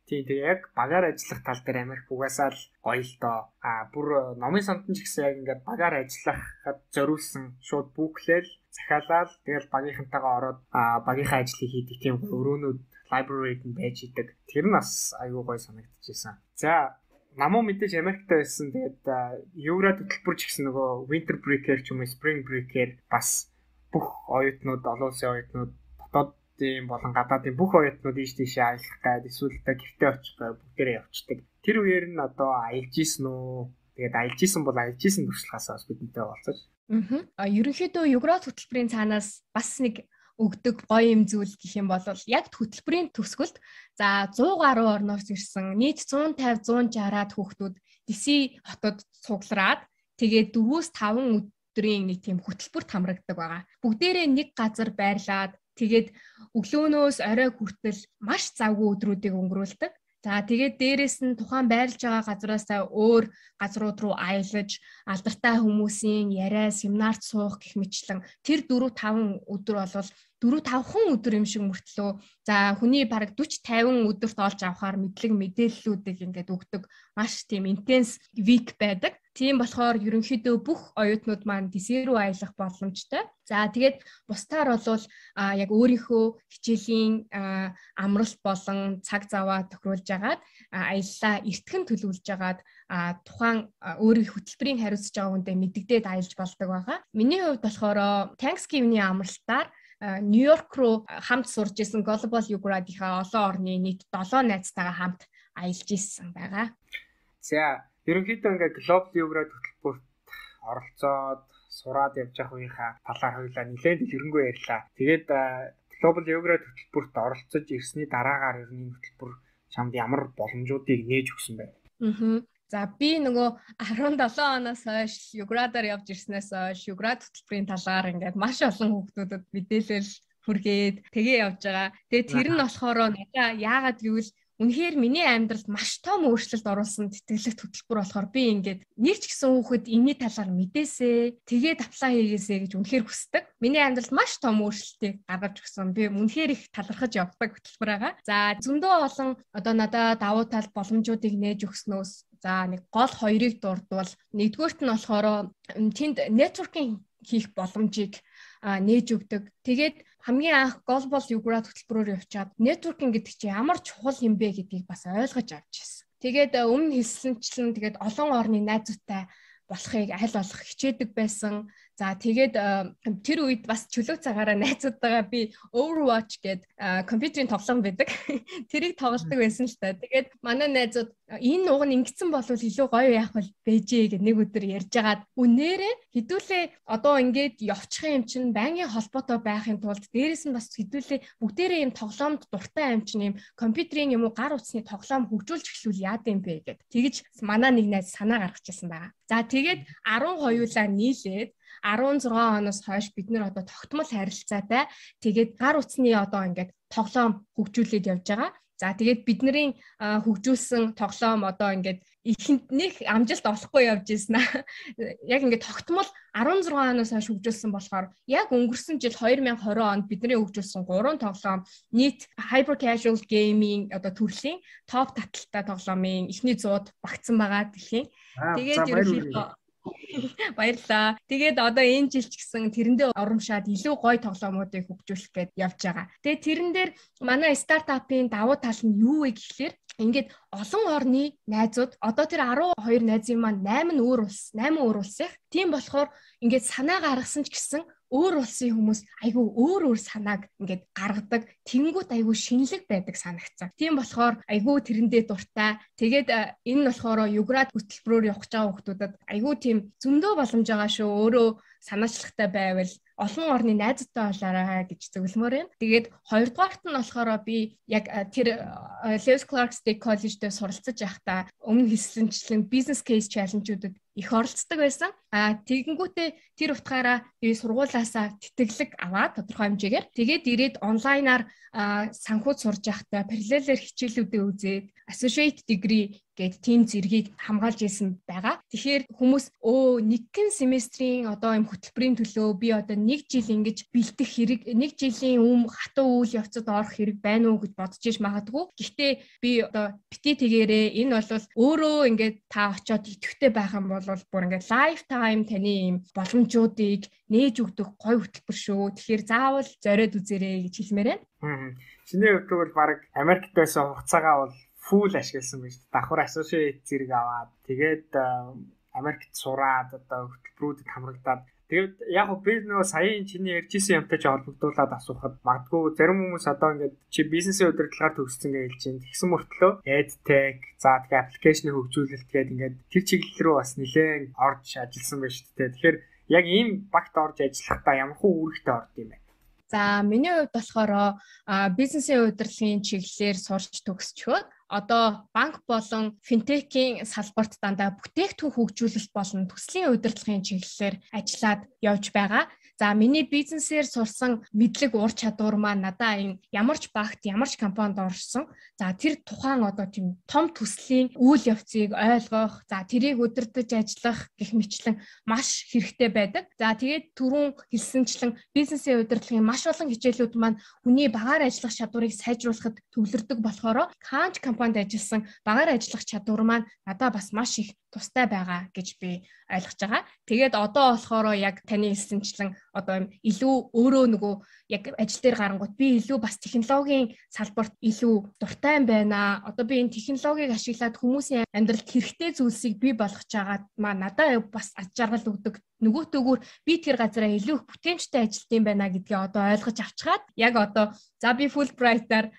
Тийм тийм яг багаар ажиллах тал дээр Америк угаасаа л гоё л доо. А бүр номын самтан ч гэсэн яг ингээд багаар ажиллахад зориулсан шууд бүклээл захиалаад тэгэл багийнхантайгаа ороод багийнхаа ажлыг хийдэг тийм өрөөнүүд library-д нь байж идэг. Тэр нь бас аюу гоё санагдчихсан. За намуу мэдээж Америкт байсан. Тэгээд Еврад хөтөлбөр ч гэсэн нөгөө winter break-ээр ч юм уу spring break-ээр бас бүх оюутнууд, олон улсын оюутнууд дотоод тийм болон гадаадын бүх оюутнууд ийш тийшээ аялах гээд эсвэл та гэртээ очих гээд бүгдээрээ явцдаг. Тэр үеэр нь одоо аялж исэн үү? Тэгээд аялж исэн бол аялж исэн туршлагаасаа бас бидэнтэй болцож Аа ерөнхийдөө Юград хөтөлбөрийн цаанаас бас нэг өгдөг гоё юм зүйл гэх юм бол яг хөтөлбөрийн төгсгөлд за сто гаруй орноос ирсэн нийт one fifty one sixty-аад хүүхдүүд Дэси хотод цуглараад тэгээд four-аас five өдрийн нэг тийм хөтөлбөрт хамрагддаг байгаа. Бүгдээрээ нэг газар байрлаад тэгээд өглөөнөөс орой хүртэл маш завгүй өдрүүдийг өнгөрүүлдэг. За тэгээд дээрэс нь тухайн байрлаж байгаа газараасаа өөр газрууд руу аялаж алдартай хүмүүсийн яриа, семинарт суух гэх мэтлэн тэр four five өдөр болвол four five өдөр юм шиг мөртлөө за хүний бараг forty fifty өдөрт олж авахаар мэдлэг мэдээллүүдийг ингээд өгдөг маш тийм интенс вик байдаг. Тийм болохоор ерөнхийдөө бүх оюутнууд маань Дэси рүү аялах боломжтой. За тэгээд бусдаар бол яг өөрийнхөө хичээлийн амралт болон цаг заваа тохируулж агаад аяллаа эртхэн төлөвлөж агаад тухайн өөрийн хөтөлбөрийн хариуцж байгаа хүндээ мэддэгдээд аялж болдог байгаа. Миний хувьд болохоор Thanksgiving-ийн амралтаар Нью-Йорк руу хамт сурж исэн Global Юградийнхаа олон орны нийт seven найзтайгаа хамт аялж исэн байгаа. За ерөнхийдөө ингээд Global Юград хөтөлбөрт оролцоод сураад явж байгаа үеийнхаа талаар хоёулаа нэлээд дэлгэрэнгүй ярьлаа. Тэгээд Global Юград хөтөлбөрт оролцож ирсний дараагаар ер нь хөтөлбөр чамд ямар боломжуудыг нээж өгсөн бэ? Аа. За би нөгөө seventeen оноос хойш Юградаар явж ирснээс хойш Юград хөтөлбөрийн талаар ингээд маш олон хүүхдүүдэд мэдээлэл хүргээд тэгээ явж байгаа. Тэгээ тэр нь болохоор надаа яагаад гэвэл үнэхээр миний амьдралд маш том өөрчлөлт оруулсан тэтгэлэгт хөтөлбөр болохоор би ингээд нэг ч гэсэн хүүхэд энэний талаар мэдээсээ тэгээд аплай хийгээсэй гэж үнэхээр хүсдэг. Миний амьдралд маш том өөрчлөлтийг гаргаж өгсөн. Би үнэхээр их талархаж явдаг хөтөлбөр байгаа. За зөндөө олон одоо надад давуу тал боломжуудыг нээж өгснөөс за нэг гол хоёрыг дурдвал нэгдүгээрт нь болохоор тэнд нетворкинг хийх боломжийг нээж өгдөг. Тэгээд хамгийн анх Global Юград хөтөлбөрөөр явчаад нетворкинг гэдэг чинь ямар чухал юм бэ гэдгийг бас ойлгож авч ирсэн. Тэгээд өмнө хэлсэнчлэн тэгээд олон орны найзуудтай болохыг аль болох хичээдэг байсан. За тэгээд тэр үед бас чөлөө цагаараа найзуудтайгаа би Overwatch гэдэг компьютерийн тоглоом байдаг. Тэрийг тоглодог байсан л та. Тэгээд манай найзууд энэ уг нь ингэсэн болвол илүү гоё яах вэ бэжээ гэдэг нэг өдөр ярьжгаад үнээрээ хэдүүлээ одоо ингээд явчих юм чинь байнгын холбоотой байхын тулд дээрэс нь бас хэдүүлээ бүгдээрээ юм тоглоомд дуртай юм чинь юм компьютерийн юм уу гар утасны тоглоом хөгжүүлж эхлүүл яад юм бэ гэд. Тэгэж манай нэг найз санаа гаргачихсан байгаа. За тэгээд twelve хоёулаа нийлээд sixteen оноос хойш бид нэр одоо тогтмол харилцаатай тэгээд гар утасны одоо ингээд тоглоом хөгжүүлээд явж байгаа. За тэгээд бидний хөгжүүлсэн тоглоом одоо ингээд ихэнд нэг амжилт олохгүй явж ирсэн аа. Яг ингээд тогтмол sixteen оноос хойш хөгжүүлсэн болохоор яг өнгөрсөн жил twenty twenty онд бидний хөгжүүлсэн three тоглоом нийт hyper casual gaming одоо төрлийн топ таталтай тоглоомын эхний one hundred багтсан байгаа дэлхийн. Тэгээд ерөнхийдөө баярлалаа. Тэгээд одоо энэ жил ч гэсэн тэрэндээ оромшаад илүү гоё тоглоомуудыг хөгжүүлэх гээд явж байгаа. Тэгээд тэрэн дээр манай стартапын давуу тал нь юу вэ гэхлээр ингээд олон орны найзууд одоо тэр twelve найзын маань eight өөр улс, eight өөр улс их. Тийм болохоор ингээд санаа гаргасан ч гэсэн өөр улсын хүмүүс айгүй өөр өөр санааг ингээд гаргадаг. Тэнгүүт айгүй шинэлэг байдаг санагцсан. Тийм болохоор айгүй тэрэндээ дуртай. Тэгээд энэ нь болохоор Юград хөтөлбөрөөр явах гэж байгаа хүмүүсд айгүй тийм зөндөө боломж байгаа шүү. Өөрөө санаачлагтай байвал олон орны найзтай болоорой гэж зөвлөмөр юм. Тэгээд хоёрдугаарт нь болохоор би яг тэр Lewis Clark State College-д суралцаж байхдаа өмнө хэлсэнчлэн business case challenge-уудад их оролцдог байсан. А тэгэнгүүтээ тэр утгаараа би сургуулаасаа тэтгэлэг аваад тодорхой хэмжээгээр тэгээд ирээд онлайнаар санхуд сурж байхдаа параллелээр хичээлүүдээ үзээд associate degree гэд тийм зэргийг хамгаалж ирсэн байгаа. Тэгэхээр хүмүүс өө нэгэн семестрийн одоо юм хөтөлбөрийн төлөө би одоо нэг жил ингэж бэлдэх хэрэг, нэг жилийн өмнө хатуу үйл явцад орох хэрэг байна уу гэж бодож иж магадгүй. Гэхдээ би одоо бити тэгээрээ энэ бол өөрөө ингээд та очиод идэвхтэй байх юм бол бүр ингээд lifetime таны юм боломжуудыг нээж өгдөг гоё хөтөлбөр шүү. Тэгэхээр заавал зориод үзээрэй гэж хэлмээр байна. Чиний хувьд бол баг Америкт байсан хугацаагаа бол фул ашигласан байж. Давхар associate зэрэг аваад тэгээд Америкт сураад одоо хөтөлбөрүүдэд хамрагдаад тэгээд яг гоо би нөгөө саяын чиний ярьжсэн юмтай ч холбогдуулаад асуухад магадгүй зарим хүмүүс одоо ингээд чи бизнесийн удирдлагаар төгссөн гэж хэлж байна. Тэгсэн мөртлөө EdTech, за тэгээд аппликейшны хөгжүүлэлт гээд ингээд тэр чиглэл рүү бас нэлээд орж ажилласан байж тээ. Тэгэхээр яг ийм багт орж ажиллахдаа ямар хөө үүрэгтэй орд юм бэ? За миний хувьд болохоор бизнесийн удирдлагын чиглэлээр сурч төгсчөөд одоо банк болон финтекийн салбарт дандаа бүтээгдэхүүн хөгжүүлэлт болон төслийн удирдлагын чиглэлээр ажиллаад явж байгаа. За миний бизнесээр сурсан мэдлэг ур чадвар маань надаа энэ ямар ч багт ямар ч компанид орсон. За тэр тухайн одоо тийм том төслийн үйл явцыг ойлгох, за тэрийг удирдах ажиллах гэх мэтлэн маш хэрэгтэй байдаг. За тэгээд түрүүн хэлсэнчлэн бизнесийн удирдлагын маш олон хичээлүүд маань хүний багаар ажиллах чадварыг сайжруулахад төвлөрдөг болохоор Канч компанид ажилласан багаар ажиллах чадвар маань надад бас маш их тустай байгаа гэж би ойлгож байгаа. Тэгээд одоо болохоор яг таны хэлсэнчлэн одоо илүү өөрөө нөгөө яг ажил дээр гарангууд би илүү бас технологийн салбарт илүү дуртай юм байна. Одоо би энэ технологиг ашиглаад хүмүүсийн амьдралд хэрэгтэй зүйлсийг бий болгож байгаа маа надад бас аж жаргал өгдөг. Нөгөөтөөгөр би тэр газараа илүү их бүтээмжтэй ажилт юм байна гэдгийг одоо ойлгож авчгаад яг одоо за би Fulbright-аар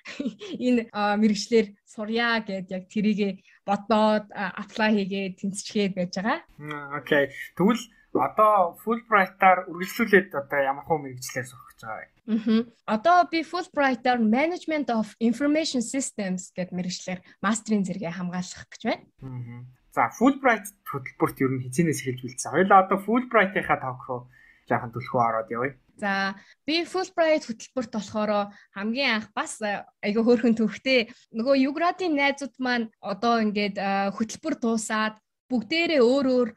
энэ мэргэжлэр сурья гэд яг тэрийг бодоод apply хийгээд тэнцчгээд байж байгаа. Окей. Тэгвэл одоо Fulbright-аар үргэлжлүүлээд одоо ямар хөө мэргэжлээр сурах гэж байгаа вэ? Аа. Одоо би Fulbright-аар Management of Information Systems гэд мэргэжлэр мастрын зэрэгээ хамгаалах гэж байна. Аа. За Fulbright хөтөлбөрт ер нь хизэнээс эхэлж үлдсэн. Хоёулаа одоо Fulbright-ийнхаа тавх руу жаахан түлхүү ороод явъя. За би Fulbright хөтөлбөрт болохоор хамгийн анх бас айгүй хөөрхөн төвхтэй нөгөө Юградын найзууд маань одоо ингээд хөтөлбөр дуусаад бүгдээрээ өөр өөр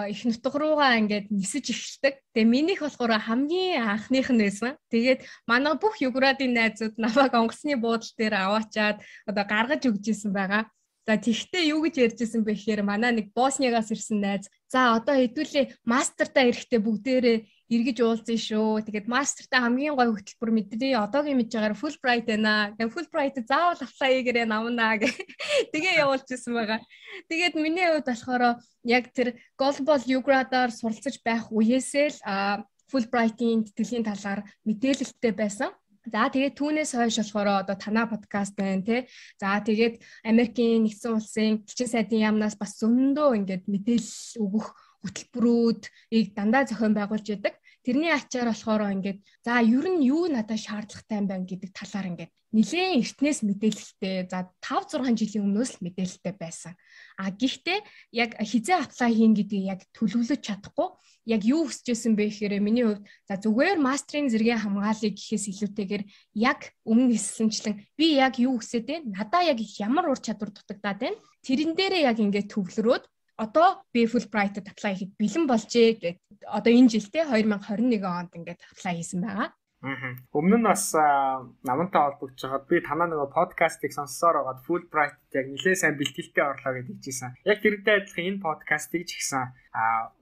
их нутг руугаа ингээд нисэж эхэлдэг. Тэгээ минийх болохоор хамгийн анхных нь байсан. Тэгээд манай бүх Юградын найзууд намайг онгоцны буудлын дээр аваачаад одоо гаргаж өгч ирсэн байгаа. За тэгтээ юу гэж ярьжсэн бэ гэхээр манай нэг Боснигаас ирсэн найз за одоо хэдүүлээ мастертаа ирэхдээ бүгдээрээ эргэж уулзъя шүү. Тэгээд мастертаа хамгийн гой хөтөлбөр мэдээ одоогийн мэдж байгаагаар Fulbright байна. Тэгээд Fulbright заавал apply хийгээрэй намнаа гэх. Тэгээ явуулчихсан байгаа. Тэгээд миний хувьд болохоор яг тэр Global Ugrad-аар суралцаж байх үеэсээ л Fulbright-ийн тэтгэлийн талаар мэдээлэлтэй байсан. За тэгээд түүнээс хойш болохоор одоо танаа подкаст байна тий. За тэгээд Америкийн нэгдсэн улсын элчин сайдын яамнаас бас зөндөө ингээд мэдээлэл өгөх хөтөлбөрүүдийг дандаа зохион байгуулж байдаг. Тэрний ачаар болохоор ингээд за ер нь юу надад шаардлагатай юм байна гэдэг талаар ингээд нэлээд эртнээс мэдээлэлтэй. За five six жилийн өмнөөс л мэдээлэлтэй байсан. А гэхдээ яг хизээ apply хийн гэдгийг яг төлөвлөж чадахгүй. Яг юу хүсэжсэн бэ гэхээр миний хувьд за зүгээр мастрын зэргийн хамгаалыг гэхээс илүүтэйгээр яг өмнө хэлсэнчлэн би яг юу хүсээд байна? Надаа яг ямар ур чадвар дутагдаад байна? Тэрэн дээрээ яг ингээд төвлөрөөд одоо би Fulbright-д apply хийхэд бэлэн болжээ гэдэг. Одоо энэ жилдээ twenty twenty-one онд ингээд apply хийсэн байгаа. Аа. Өмнө нь бас намантай холбогдож байгаад би танаа нөгөө подкастыг сонссоор байгаад Fulbright яг нэлээд сайн бэлтгэлтэй орлоо гэж хэлжсэн. Яг тэрнтэй адилхан энэ подкастыг ч гэсэн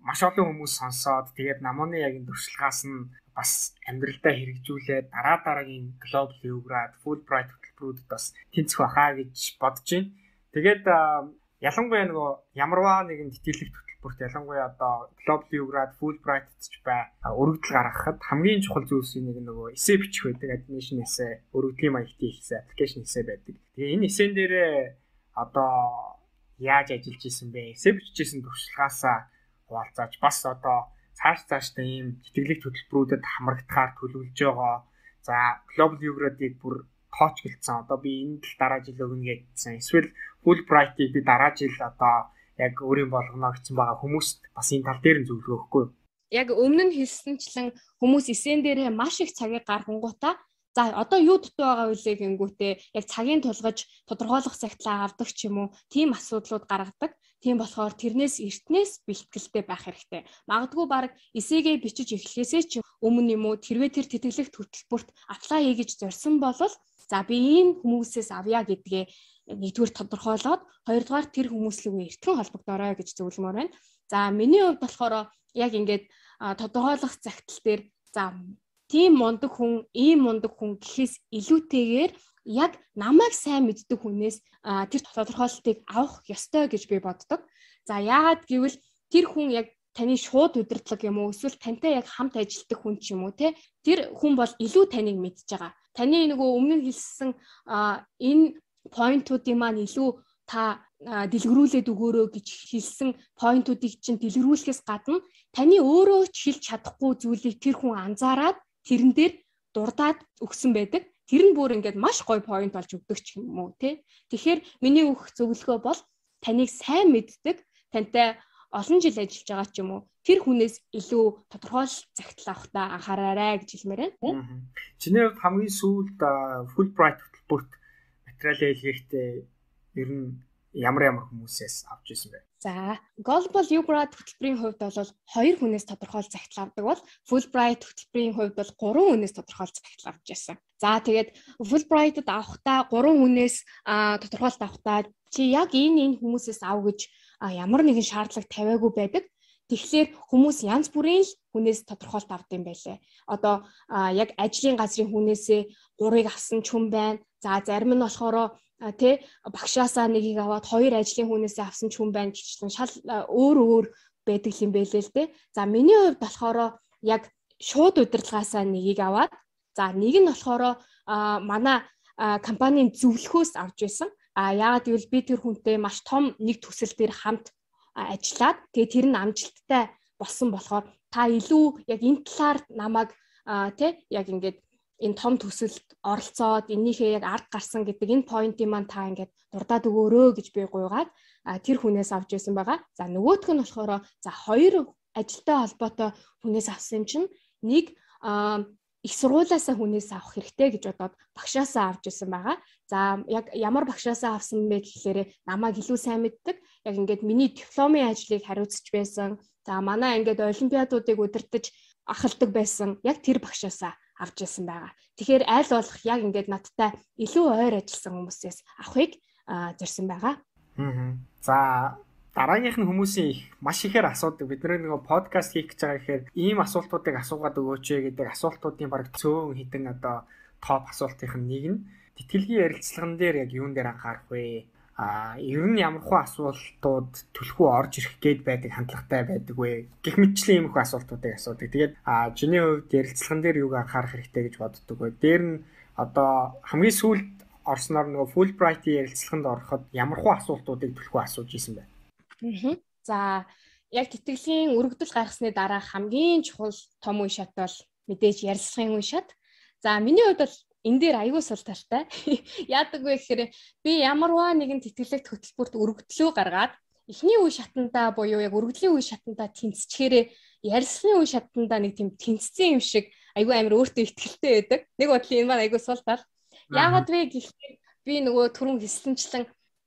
маш олон хүмүүс сонсоод тэгээд намууны яг энэ туршлагаас нь бас амьдралдаа хэрэгжүүлээд дараа дараагийн Global Ugrad Fulbright хөтөлбөрүүдэд бас тэнцэх байхаа гэж бодож байна. Тэгээд ялангуяа нөгөө ямарваа нэгэн тэтгэлэгт хөтөлбөрт ялангуяа одоо Global Ugrad Fulbright ч бай өргөдөл гаргахад хамгийн чухал зүйлсийн нэг нөгөө эссе бичих байдаг, admission эссе, өргөдлийн маягтын эссе, application эссе байдаг. Тэгээ энэ эссен дээрээ одоо яаж ажиллаж исэн бэ? Эссе бичижсэн туршлагаасаа хуваалцааж бас одоо цааш цаашдаа ийм тэтгэлэгт хөтөлбөрүүдэд хамрагдахаар төлөвлөж байгаа. За Global Ugrad-ыг бүр тооч гэлцсэн. Одоо би энэ л дараа жил өгнө гэдсэн. Эсвэл Fulbright-ыг би дараа жил одоо яг өөрийн болгоно гэсэн байгаа хүмүүст бас энэ тал дээр нь зөвлөгөө өгөхгүй юу? Яг өмнө нь хэлсэнчлэн хүмүүс эсен дээрээ маш их цагийг гаргангуудаа за одоо юу дутуу байгаа вэ гэнгүүтээ яг цагийн тулгаж тодорхойлох цагтлаа авдаг ч юм уу тийм асуудлууд гаргадаг. Тийм болохоор тэрнээс эртнээс бэлтгэлтэй байх хэрэгтэй. Магадгүй баг эсээгээ бичиж эхлэхээсээ ч өмнө юм уу тэрвээ тэр тэтгэлэгт хөтөлбөрт apply хийж зорьсон бол за би энэ хүмүүсээс авъя гэдгээ нэгдүгээр тодорхойлоод хоёрдугаар тэр хүмүүслүүгээ эртхэн холбогдорой гэж зөвлөмөр байна. За миний хувьд болохоор яг ингээд тодорхойлох цагтл дээр за тийм мундаг хүн, ийм мундаг хүн гэхээс илүүтэйгээр яг намайг сайн мэддэг хүнээс тэр тодорхойлолтыг авах ёстой гэж би боддог. За яагаад гэвэл тэр хүн яг таны шууд удирдлага юм уу эсвэл тантай яг хамт ажилладаг хүн ч юм уу те тэр хүн бол илүү таныг мэдж байгаа. Таны нөгөө өмнө хэлсэн энэ поинтуудын маань илүү та дэлгэрүүлээд өгөөрөө гэж хэлсэн поинтуудыг чинь дэлгэрүүлэхээс гадна таны өөрөө ч хэлж чадахгүй зүйлийг тэр хүн анзаараад тэрэн дээр дурдаад өгсөн байдаг. Тэр нь бүр ингээд маш гоё point болж өгдөг ч юм уу тий. Тэгэхээр миний өгөх зөвлөгөө бол таныг сайн мэддэг, тантай олон жил ажиллаж байгаа ч юм уу тэр хүнээс илүү тодорхой загтал авахтаа анхаараарай гэж хэлмээр байна. Чиний хувьд хамгийн сүүлд Fulbright хөтөлбөрт материалаа илгээхдээ ер нь ямар ямар хүмүүсээс авч ирсэн бэ? За, Global YouGrad хөтөлбөрийн хувьд бол хоёр хүнээс тодорхойлж загтал авдаг бол Fulbright хөтөлбөрийн хувьд бол гурван хүнээс тодорхойлж загтал авч ирсэн. За, тэгээд Fulbright-д авахдаа гурван хүнээс тодорхойлт авахдаа чи яг энэ энэ хүмүүсээс ав гэж ямар нэгэн шаардлага тавиагүй байдаг. Тэгэхээр хүмүүс янз бүрийн л хүнээс тодорхойлт авдаг юм байлээ. Одоо яг ажлын газрын хүнээсээ гурыг авсан ч хүн байна. За, зарим нь болохоор тэ багшаасаа нэгийг аваад хоёр ажлын хүнээсээ авсан ч хүн байна гэхчлэн шал өөр өөр байдаг юм байлээ л дээ. За, миний хувьд болохоор яг шууд удирдлагаасаа нэгийг аваад за нэг нь болохоор манай компанийн зөвлөхөөс авч байсан. А яагаад гэвэл би тэр хүнтэй маш том нэг төсөл дээр хамт ажиллаад тэгээ тэр нь амжилттай болсон болохоор та илүү яг энэ талаар намайг тэ яг ингээд энэ том төсөлд оролцоод энийхээ яг ард гарсан гэдэг энэ поинтыг маань та ингээд дурдаад өгөөрөө гэж би гуйгаад тэр хүнээс авч байсан байгаа. За нөгөөх нь болохоор за хоёр ажилтай холбоотой хүнээс авсан юм чинь нэг их сургуулиасаа хүнээс авах хэрэгтэй гэж бодоод багшаасаа авч ирсэн байгаа. За яг ямар багшаасаа авсан бэ гэхээр намайг илүү сайн мэддэг. Яг ингээд миний дипломын ажлыг хариуцж байсан. За манай ингээд олимпиадуудыг удирдах ахалдаг байсан. Яг тэр багшаасаа авч ирсэн байгаа. Тэгэхээр аль болох яг ингээд надтай илүү ойр ажилласан хүмүүсээс авахыг зорьсон байгаа. Аа. За дараагийнх нь хүмүүсийн их маш ихээр асуудаг. Бид нэг подкаст хийх гэж байгаа гэхээр ийм асуултуудыг асуугаад өгөөч гэдэг асуултуудын баг цөөн хитэн одоо топ асуултын нэг нь тэтгэлгийн ярилцлаган дээр яг юун дээр анхаарах вэ? А ер нь ямархуу асуултууд төлхөө орж ирэх гээд байдаг хандлагатай байдаг вэ? Гэх мэтчлэн ийм их асуултуудыг асуудаг. Тэгээд а чиний хувьд ярилцлаган дээр юуг анхаарах хэрэгтэй гэж боддог вэ? Дээр нь одоо хамгийн сүүлд орсноор нөгөө Fulbright-ийн ярилцлаганд ороход ямархуу асуултуудыг төлхөө асууж исэн бэ? Аа. За яг тэтгэлгийн өргөдөл гаргасны дараа хамгийн чухал том үе шат бол мэдээж ярилцлагын үе шат. За миний хувьд бол энэ дээр аягүй сул талтай. Яадаг вэ гэхээр би ямарваа нэгэн тэтгэлэгт хөтөлбөрт өргөдлөө гаргаад эхний үе шатандаа буюу яг өргөдлийн үе шатандаа тэнцчихээрээ ярилцлагын үе шатандаа нэг тийм тэнцсэн юм шиг аягүй амар өөртөө ихтгэлтэй байдаг. Нэг бодлын энэ маань аягүй сул тал. Яагаад вэ гэхээр би нөгөө түрүүн хэлсэнчлэн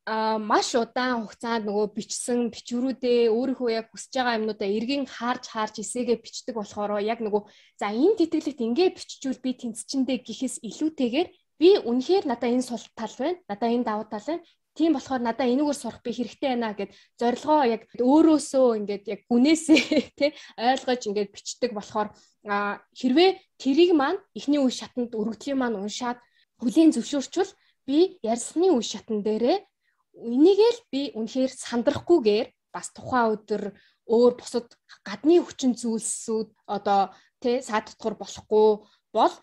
а маш удаан хугацаанд нөгөө бичсэн бичвэрүүдээ өөрийнхөө яг хүсэж байгаа юмнуудаа эргэн харж харж эсээгээ бичдэг болохоор яг нөгөө за энэ тэтгэлэгт ингээ биччихвэл би тэнцчэндээ гэхээс илүүтэйгээр би үнэхээр надаа энэ сул тал байна. Надаа энэ давуу тал байна. Тийм болохоор надаа энэгээр сурах би хэрэгтэй байна гэд зорилгоо яг өөрөөсөө ингээд яг гүнээсээ тий ойлгож ингээд бичдэг болохоор хэрвээ тэрийг маань эхний үе шатанд өргөдлийн маань уншаад хүлийн зөвшөөрчвөл би ярьсны үе шатан дээрээ энийгэл би үнэхээр сандрахгүйгээр бас тухайн өдөр өөр бусад гадны хүчин зүйлсүүд одоо тий саадтгуур болохгүй бол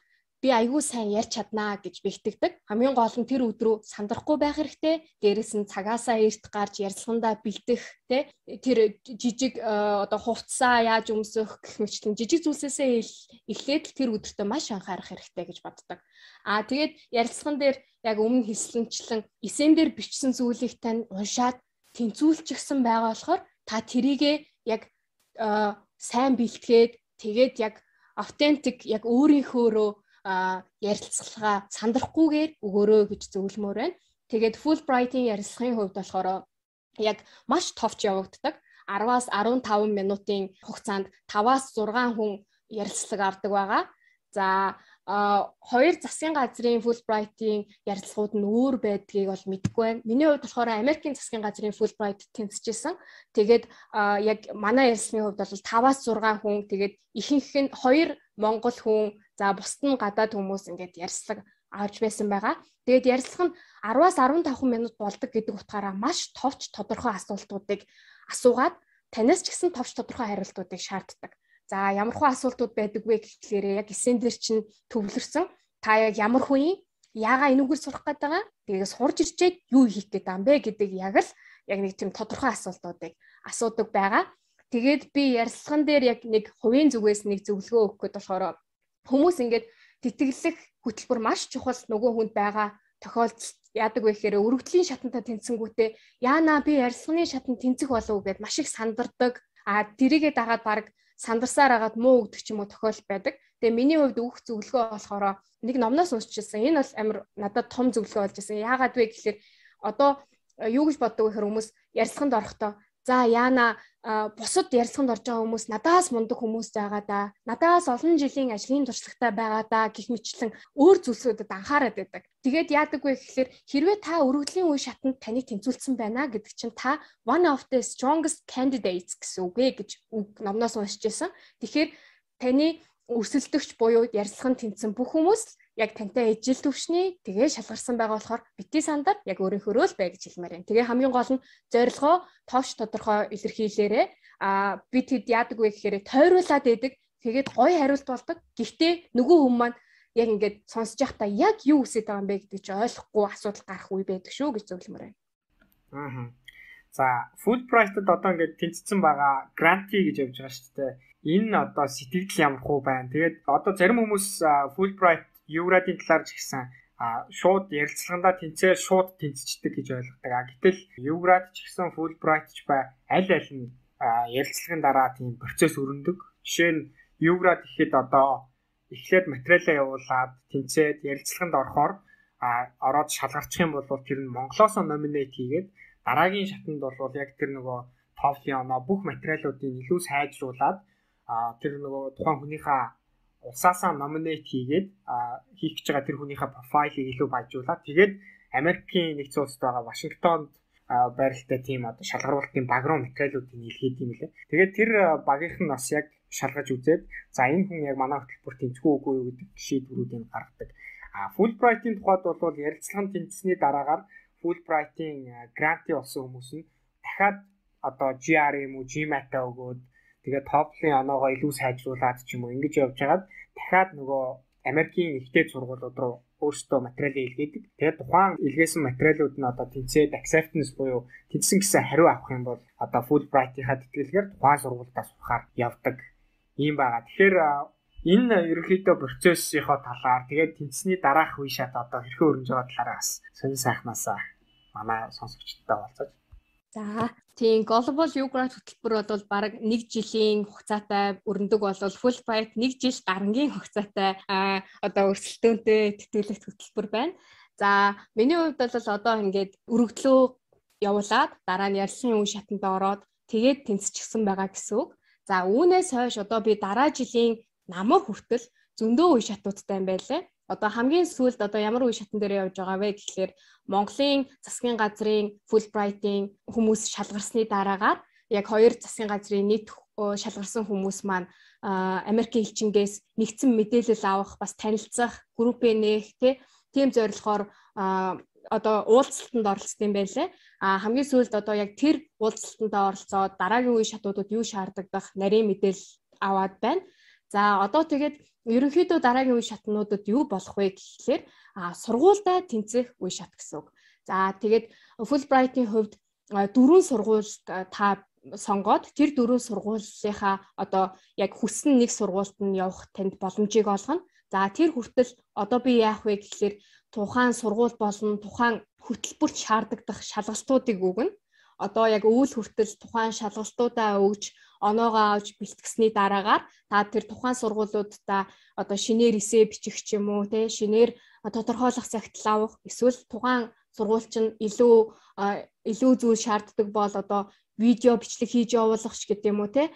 би аягүй сайн ярьж чаднаа гэж би итгэдэг. Хамгийн гол нь тэр өдрөө сандрахгүй байх хэрэгтэй. Дээрээс нь цагаасаа эрт гарч ярилцлагандаа бэлдэх тий тэр жижиг одоо хувцсаа яаж өмсөх гэх мэтлэн жижиг зүйлсээсээ эхлээд тэр өдөртөө маш анхаарах хэрэгтэй гэж боддог. Аа тэгээд ярилцлаган дээр яг өмнө хэлсэнчлэн эсэн дээр бичсэн зүйлийг тань уншаад тэнцүүлчихсэн байгаа болохоор та тэрийгэ яг сайн бэлтгээд тэгээд яг автентик яг өөрийнхөөрөө ярилцлагаа сандрахгүйгээр өгөөрөө гэж зөвлөмөр байна. Тэгээд Fulbright-ийн ярилцлагын хувьд болохоор яг маш товч явагддаг. араваас арван таван минутын хугацаанд таваас зургаан хүн ярилцлага авдаг байгаа. За хоёр засгийн газрын Fulbright-ийн ярилцлагууд нь өөр байдгийг бол мэдэхгүй байна. Миний хувьд болохоор Америкийн засгийн газрын Fulbright тэнцэжсэн. Тэгээд яг манай ярилцлагын хувьд бол таваас зургаан хүн, тэгээд ихэнх нь хоёр монгол хүн, за бусд нь гадаад хүмүүс ингээд ярилцлага авч байсан байгаа. Тэгээд ярилцлага нь араваас арван таван минут болдог гэдэг утгаараа маш товч тодорхой асуултуудыг асуугаад танаас ч гэсэн товч тодорхой хариултуудыг шаарддаг. За ямар хөө асуултууд байдаг вэ гэхлээр яг эсэн дээр чинь төвлөрсөн. Та яг ямар хүн яагаа энүүгээр сурах гээд байгаа? Тэгээс хурж ирчээд юу хийх гээд байгаа юм бэ гэдэг яг л яг нэг тийм тодорхой асуултуудыг асуудаг байгаа. Тэгээд би ярилцлаган дээр яг нэг хувийн зүгээс нэг зөвлөгөө өгөх гээд болохоор хүмүүс ингээд тэтгэлэх хөтөлбөр маш чухал нөгөө хүнд байгаа тохиолдолд яадаг вэ гэхээр өргөдлийн шатантаа тэнцэнгүүтээ яана би ярилцлагын шатанд тэнцэх болов гэд маш их сандардаг. А тэрийгээ дагаад баг сандарсаар агаад муу өгдөг ч юм уу тохиол байдаг. Тэгээ миний хувьд өгөх зөвлөгөө болохоор нэг номноос уншижсэн. Энэ бол амар надад том зөвлөгөө болж байсан. Яагаад вэ гэхээр одоо юу гэж боддог вэ гэхээр хүмүүс ярилцлаганд орохдоо за яана бусад ярилцлаганд орж байгаа хүмүүс надаас мундаг хүмүүс байгаа да. Надаас олон жилийн ажлын туршлагатай байгаа да гэх мэтлэн өөр зүйлсүүдэд анхаарат байдаг. Тэгээд яадаг вэ гэхээр хэрвээ та өргөдлийн үе шатанд таныг тэнцвүүлсэн байна гэдэг чинь та one of the strongest candidates гэсэн үг ээ гэж номноос уншиж байсан. Тэгэхээр таны өрсөлдөгч буюу ярилцлаганд тэнцсэн бүх хүмүүс яг тантай ижил төвшний тэгээ шалгарсан байгаа болохоор бити сандар яг өөрийнхөө л бай гэж хэлмээр байна. Тэгээ хамгийн гол нь зорилгоо товч тодорхой илэрхийлээрээ а би тэд яадаг вэ гэхээр тойруулаад байдаг. Тэгээд гоё хариулт болдог. Гэхдээ нөгөө хүмүүс маань яг ингээд сонсож байхдаа яг юу үсэж байгаа юм бэ гэдэг чинь ойлгохгүй асуудал гарах үе байдаг шүү гэж зөвлөмөр байна. Аа. За, Fulbright-д одоо ингээд тэнцсэн байгаа гранти гэж явж байгаа шүү дээ. Энэ одоо сэтгэл ямар хуу байна. Тэгээд одоо зарим хүмүүс Fulbright Еврадын талаар ч гэсэн шууд ярилцлагандаа тэнцээ шууд тэнцчдэг гэж ойлгодог. А гэтэл Еврад ч гэсэн Fulbright ч бай аль аль нь ярилцлагын дараа тийм процесс өрнөдөг. Жишээ нь Еврад ихэд одоо эхлээд материалаа явуулаад тэнцээд ярилцлаганд орохоор ороод шалгарчих юм бол тэр нь Монголоос номинейт хийгээд дараагийн шатанд бол яг тэр нөгөө TOEFL-ийн оноо бүх материалуудыг илүү сайжруулад тэр нөгөө тухайн хүнийхээ улсаасаа номинейт хийгээд хийх гэж байгаа тэр хүнийхээ профайлыг илүү баяжуулаад тэгээд Америкийн нэгдсэн улсад байгаа Вашингтонд байралтай тийм одоо шалгаруулалтын баг руу материалуудыг илгээдэг юм лээ. Тэгээд тэр багийнх нь бас яг шалгаж үзээд за энэ хүн яг манай хөтөлбөр тэнцгүй үгүй юу гэдэг шийдвэрүүдийг гаргадаг. А Fulbright-ийн тухайд бол ярилцлагын тэнцсэний дараагаар Fulbright-ийн гранти олсон хүмүүс нь дахиад одоо G R E юм уу GMAT-а өгөөд тэгээд TOEFL-ийн оноогоо илүү сайжруулад ч юм уу ингэж явж хагаад дахиад нөгөө Америкийн ихтэй сургуулиуд руу өөрсдөө материалыг илгээдэг. Тэгээд тухайн илгээсэн материалууд нь одоо тэнцээд acceptance буюу тэнцсэн гэсэн хариу авах юм бол одоо Fulbright-ийнхаа тэтгэлгээр тухайн сургуультаас сурахаар явдаг юм байгаа. Тэгэхээр энэ ерөнхийдөө процессийнхоо талаар тэгээд тэнцсэний дараах үе шат одоо хэрхэн өрнөж байгаа талаараа бас сонир сайхнаасаа манай сонсогчдод болцож. За тийм Global Еврад хөтөлбөр бол бараг нэг жилийн хугацаатай өрнөдөг болвол Fulbright нэг жил гарангийн хугацаатай одоо өрсөлдөөнтэй тэтгэлэгт хөтөлбөр байна. За миний хувьд бол одоо ингээд өргөдлөө явуулаад дараа нь ярилцлагын үе шатанд ороод тэгээд тэнцчихсэн байгаа гэсэн үг. За үүнээс хойш одоо би дараа жилийн намар хүртэл зөндөө үе шатуудтай юм байлаа. Одоо хамгийн сүүлд одоо ямар үе шатан дээр явж байгаа вэ гэхлээр Монголын засгийн газрын Fulbright-ийн хүмүүс шалгарсны дараагаар яг хоёр засгийн газрын нийт шалгарсан хүмүүс маань Америкийн элчингээс нэгдсэн мэдээлэл авах, бас танилцах, группээ нээх тийм зорилгоор одоо уулзалтанд оролцсон байлээ. А хамгийн сүүлд одоо яг тэр уулзалтанд оролцоод дараагийн үе шатуудад юу шаарддаг нарийн мэдээлэл аваад байна. За одоо тэгээд ерөнхийдөө дараагийн үе шатнуудад юу болох вэ гэхлээр сургуультай тэнцэх үе шат гэсэн үг. За тэгээд Fulbright-ийн хувьд дөрвөн сургууль та сонгоод тэр дөрвөн сургуулийнхаа одоо яг хүссэн нэг сургуульд нь явах танд боломжийг олгоно. За тэр хүртэл одоо би яах вэ гэхлээр тухайн сургууль болон тухайн хөтөлбөрт шаарддаг шалгалтуудыг өгнө. Одоо яг өвөл хүртэл тухайн шалгалтуудаа өгж оноогоо авч бэлтгэсний дараагаар та тэр тухайн сургуулиудаа одоо шинээр эсээ бичих ч юм уу те шинээр тодорхойлох цагтл авах эсвэл тухайн сургууль чинь илүү илүү зүйл шаарддаг бол одоо видео бичлэг хийж явуулах ч гэдэг юм уу те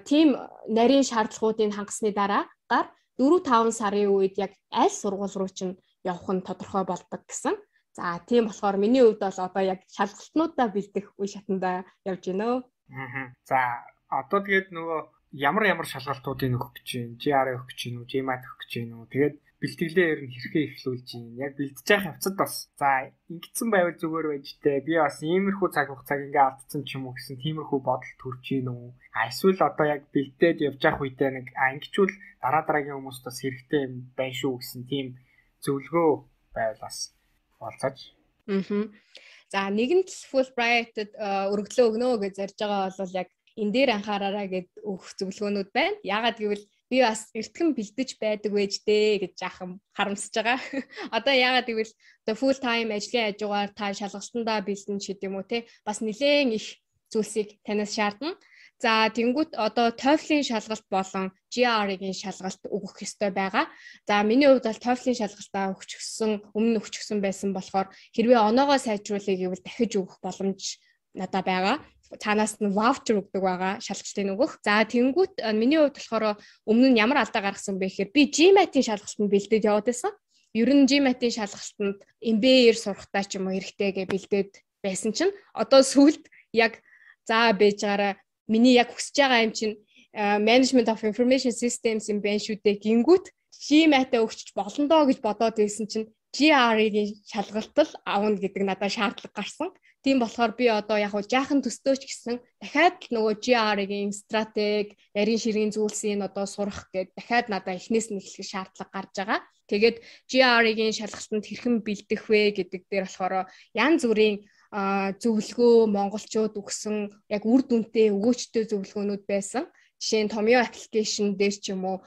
тийм нарийн шаардлагуудыг хангасны дараагаар дөрвөн таван сарын үед яг аль сургууль руу чинь явах нь тодорхой болдог гэсэн. За тийм болохоор миний хувьд бол одоо яг шалгалтнуудаа бэлдэх үе шатанда явж байна. Аа. За одоо тэгээд нөгөө ямар ямар шалгалтуудыг өгөх гэж байна? G R E өгөх гэж байна уу? GMAT өгөх гэж байна уу? Тэгээд бэлтгэлээ ер нь хэрхэн эхлүүлж байна? Яг бэлдэж явах явцад бас за ингэсэн байвал зүгээр байж тээ. Би бас иймэрхүү цаг хугацааг ингээ алдсан ч юм уу гэсэн тиймэрхүү бодол төрж гин үү? А эсвэл одоо яг бэлдээд явж явах үедээ нэг а ингэчүүл дараа дараагийн хүмүүст бас хэрэгтэй юм байна шүү гэсэн тийм зөвлөгөө байвал бас болцож. Аа. За нэгэнт Fulbright-д өргөдлөө өгнө гэж зарж байгаа бол яг энэ дээр анхаараарай гэд өгөх зөвлөгөөнүүд байна. Яагаад гэвэл би бас эртхэн бэлдэж байдаг байж дээ гэж жаахан харамсаж байгаа. Одоо яагаад гэвэл одоо full time ажлын хажуугаар та шалгалтандаа бэлдэн ч гэдэм үү те бас нэлээд их зүйлсийг танаас шаардна. За тэнгуут одоо TOEFL-ийн шалгалт болон G R E-ийн шалгалт өгөх ёстой байгаа. За миний хувьд бол TOEFL-ийн шалгалтаа өгчихсөн, өмнө өгчихсөн байсан болохоор хэрвээ оноогоо сайжруулъя гэвэл дахиж өгөх боломж надад байгаа. Цаанаас нь voucher өгдөг байгаа шалгалтын өгөх. За тэнгуут миний хувьд болохоор өмнө нь ямар алдаа гаргасан бэ гэхээр би GMAT-ийн шалгалтанд бэлдээд яваад байсан. Ер нь GMAT-ийн шалгалтанд эм би эй-ээр сурахтаа ч юм уу хэрэгтэй гэж бэлдээд байсан чинь одоо сүүлд яг за бэж гараа миний яг хүсэж байгаа юм чинь Management of Information Systems юм байна шүү дээ гингүүт GMAT-аа өгч болно доо гэж бодоод байсан чинь G R E-ийн шалгалтал авна гэдэг надад шаардлага гарсан. Тийм болохоор би одоо яг жаахан төстөөч гэсэн дахиад нөгөө G R E-ийн стратеги, нарийн ширгийн зүйлсийн одоо сурах гэдэг дахиад надад эхнээс нь эхлэх шаардлага гарч байгаа. Тэгээд G R E-ийн шалгалтанд хэрхэн бэлдэх вэ гэдэг дээр болохоор янз бүрийн зөвлөгөө монголчууд өгсөн яг үр дүнтэй өгөөчтэй зөвлөгөөнүүд байсан. Жишээ нь Tomio application дээр ч юм уу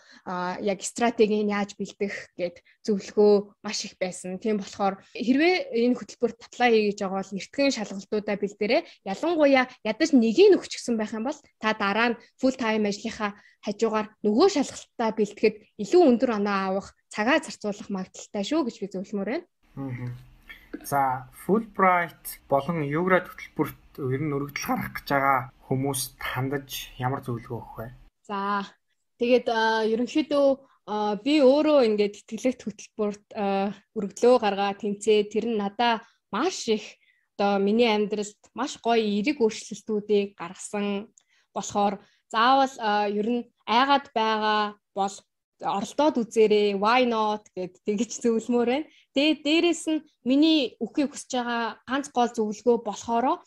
яг стратегийг яаж бэлдэх гэд зөвлөгөө маш их байсан. Тийм болохоор хэрвээ энэ хөтөлбөрт apply хийж байгаа бол эртхэн шалгалтуудаа бэлдээрэй. Ялангуяа ядаж нэгийг өгчихсэн байх юм бол та дараа нь full time ажлынхаа хажуугаар нөгөө шалгалтаа бэлтгэхэд илүү өндөр оноо авах, цагаа зарцуулах магадaltaй шүү гэж би зөвлөмөр байна. За Fulbright болон Юград хөтөлбөрт ер нь өргөдөл гарах гэж байгаа хүмүүст хандаж ямар зөвлөгөө өгөх вэ? За тэгээд ерөнхийдөө би өөрөө ингээд тэтгэлэгт хөтөлбөрт өргөдлөө гаргаа тэмцээ тэр нь надаа маш их одоо миний амьдралд маш гоё эерэг өөрчлөлтүүдийг гаргасан болохоор заавал ер нь айгаад байгаа бол оролдоод үзээрэй, why not гэд тэгж зөвлөмөр байна. Тэгээд дээрэс нь миний өгөхийг хүсэж байгаа ганц гол зөвлөгөө болохоро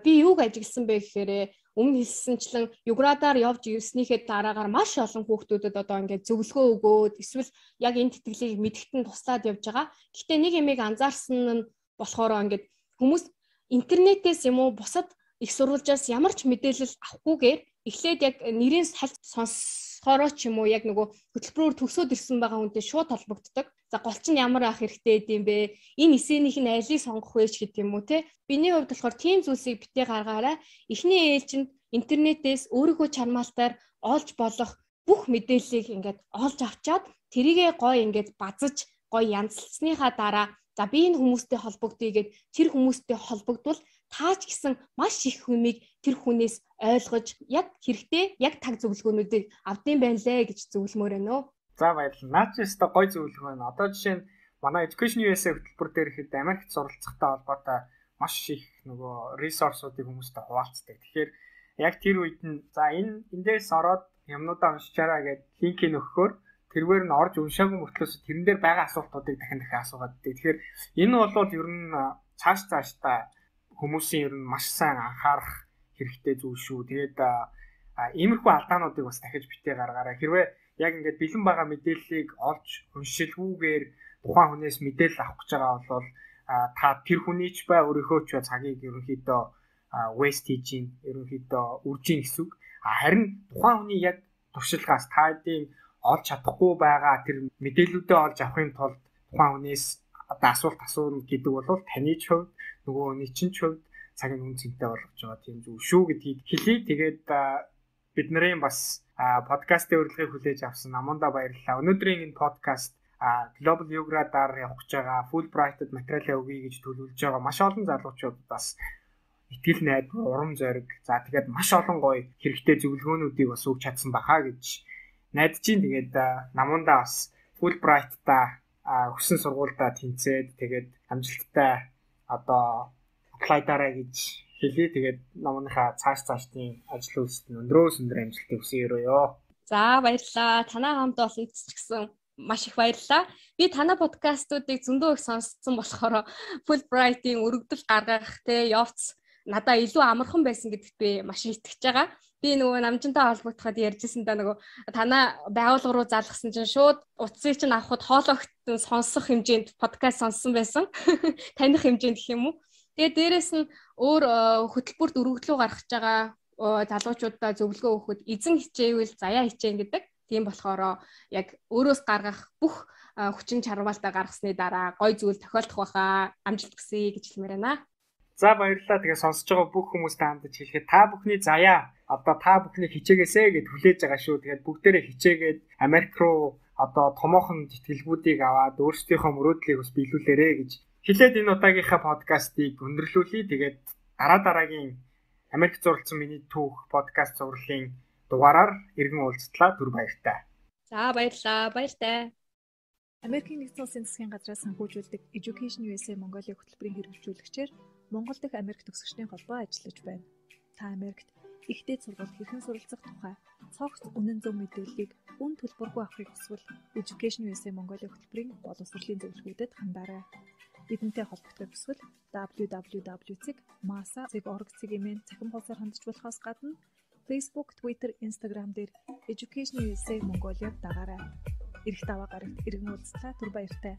би юуг ажигласан бэ гэхээр өмнө хэлсэнчлэн Юградаар явж ирснийхээ дараагаар маш олон хүүхдүүдэд одоо ингээд зөвлөгөө өгөөд эсвэл яг энэ тэтгэлийг мэдгэтэн туслаад явж байгаа. Гэхдээ нэг юмыг анзаарсан нь болохоор ингээд хүмүүс интернетээс юм уу бусад их сурвалжаас ямар ч мэдээлэл авахгүйгээр эхлээд яг нэрийн салж сонсохороо ч юм уу яг нөгөө хөтөлбөрөөр төгсөөд ирсэн байгаа хүнтэй шууд холбогддог. За гол чинь ямар ах хэрэгтэй гэдэм бэ? Энэ эсэнийх нь алийг сонгох вэ ч гэдэг юм уу те. Биний хувьд болохоор тийм зүйлсийг битээ гаргаарай. Эхний ээлжинд интернетээс өөрийнхөө чармаалтаар олж болох бүх мэдээллийг ингээд олж авчаад тэрийгээ гоё ингээд базаж гоё янзлсныхаа дараа за би энэ хүмүүстэй холбогдъё гэд тэр хүмүүстэй холбогдвол таач гэсэн маш их хүмийг тэр хүнээс ойлгож яг хэрэгтэй яг таг зөвлөгөөнүүдийг авдсан байна лээ гэж зөвлөмөр байна уу. За баярлалаа. Наад чи өстой гоё зөвлөгөө байна. Одоо жишээ нь манай Education ю эс эй хөтөлбөр дээр ихэд Америкт суралцахтай холбоотой маш их нөгөө ресурсуудыг хүмүүстэй хуваалцдаг. Тэгэхээр яг тэр үед нь за энэ эндээс ороод юмнуудаа уншичаараа гэд линкийг өгөхөөр тэрвэр нь орж уншаагүй мөртлөөс тэрэн дээр байгаа асуултуудыг дахин дахин асуугаад дээ. Тэгэхээр энэ бол ер нь цааш цаашдаа хүмүүсийн ер нь маш сайн анхаарах хэрэгтэй зүйл шүү. Тэгээд иймэрхүү алдаануудыг бас дахиж битээ гаргаарай. Хэрвээ яг ингээд бэлэн байгаа мэдээллийг олж уншилгүйгээр тухайн хүнээс мэдээлэл авах гэж байгаа бол та тэр хүний ч бай өөрийнхөө ч цагийг ерөнхийдөө waste хийж ин ерөнхийдөө үржин гэсэн үг. Харин тухайн хүний яг туршилгаас таадын олж чадахгүй байгаа тэр мэдээллүүдээ олж авахын тулд тухайн хүнээс одоо асуулт асууна гэдэг бол таны ч хувьд нөгөө хүний чинь ч хувьд цагийн үн цэнтэй болгож байгаа тийм зүйл шүү гэдгийг хэлье. Тэгээд бид нарын бас подкастын урилгыг хүлээж авсан Аманда баярлалаа. Өнөөдрийн энэ подкаст Global Юградаар явах гэж байгаа Fulbright-д материал өгье гэж төлөвлөж байгаа маш олон залуучууд бас итгэл найдвар, урам зориг, за тэгээд маш олон гоё хэрэгтэй зөвлөгөөнүүдийг бас өгч чадсан бахаа гэж найдаж чинь. Тэгээд Наманда бас Fulbright-та өссөн сургуультай тэнцээд тэгээд амжилттай одоо apply дараа гэж хэлээ. Тэгээд намынхаа цааш цаашдын ажил үйлсэд өндрөөс өндөр амжилтыг хүсье өрөөё. За баярлалаа. Танаа хамт бол эцэгсэн маш их баярлалаа. Би танаа подкастуудыг зөндөө их сонссон болохоор Fulbright-ийн өргөдөл гаргах те явц надаа илүү амархан байсан гэдэгт би маш итгэж байгаа. Би нөгөө намжинтай холбогдоход ярьжсэн да нөгөө танаа байгууллага руу залгасан чинь шууд утсыг чинь авахд хоолойгт сонсох хэмжээнд подкаст сонссон байсан. Таних хэмжээнд гэх юм уу. Тэгээ дээрэс нь өөр хөтөлбөрт өргөдлөө гаргаж байгаа залуучуудаа зөвлөгөө өгөхөд эзэн хичээвэл заяа хичээн гэдэг. Тийм болохоор яг өөрөөс гаргах бүх хүчин чармаалтаа гаргасны дараа гой зүйл тохиолдох байхаа амжилт хүсье гэж хэлмээр байна. За баярлалаа. Тэгээ сонсож байгаа бүх хүмүүстээ хандаж хэлэхэд та бүхний заяа одоо та бүхний хичээгээсэй гэд хүлээж байгаа шүү. Тэгээд бүгдээрээ хичээгээд Америк руу одоо томоохон тэтгэлгүүдийг аваад өөрсдийнхөө мөрөөдлийг бас биелүүлээрэй гэж хэлээд энэ удаагийнхаа подкастыг өндөрлүүлье. Тэгээд дараа дараагийн Америк зурлцсан миний түүх подкаст зурлалын дугаараар иргэн уулзтлаа. Түр баяртай. За баярлалаа. Баяртай. Америкийн нэгдсэн улсын засгийн газраас санхүүжүүлдэг Education ю эс эй Монголын хөтөлбөрийн хэрэгжүүлэгчээр Монгол дахь Америк төгсөгчдийн холбоо ажиллаж байна. Та Америкт ихтэй сургууль хэрхэн суралцах тухай цогц үнэн зөв мэдээллийг үн төлбөргүй авахыг хүсвэл Education ю эс эй Монголын хөтөлбөрийн боловсролын зөвлөгөөдөд хандаарай. Бидэнтэй холбогдох хүсвэл дабл ю дабл ю дабл ю дот masa dot org цэгийн цахим хуудасаар хандж болохоос гадна Facebook, Twitter, Instagram дээр Education ю эс эй Mongolia-г дагаарай. Ирэх даваа гарагт иргэн уулзлаа. Түр баяртай.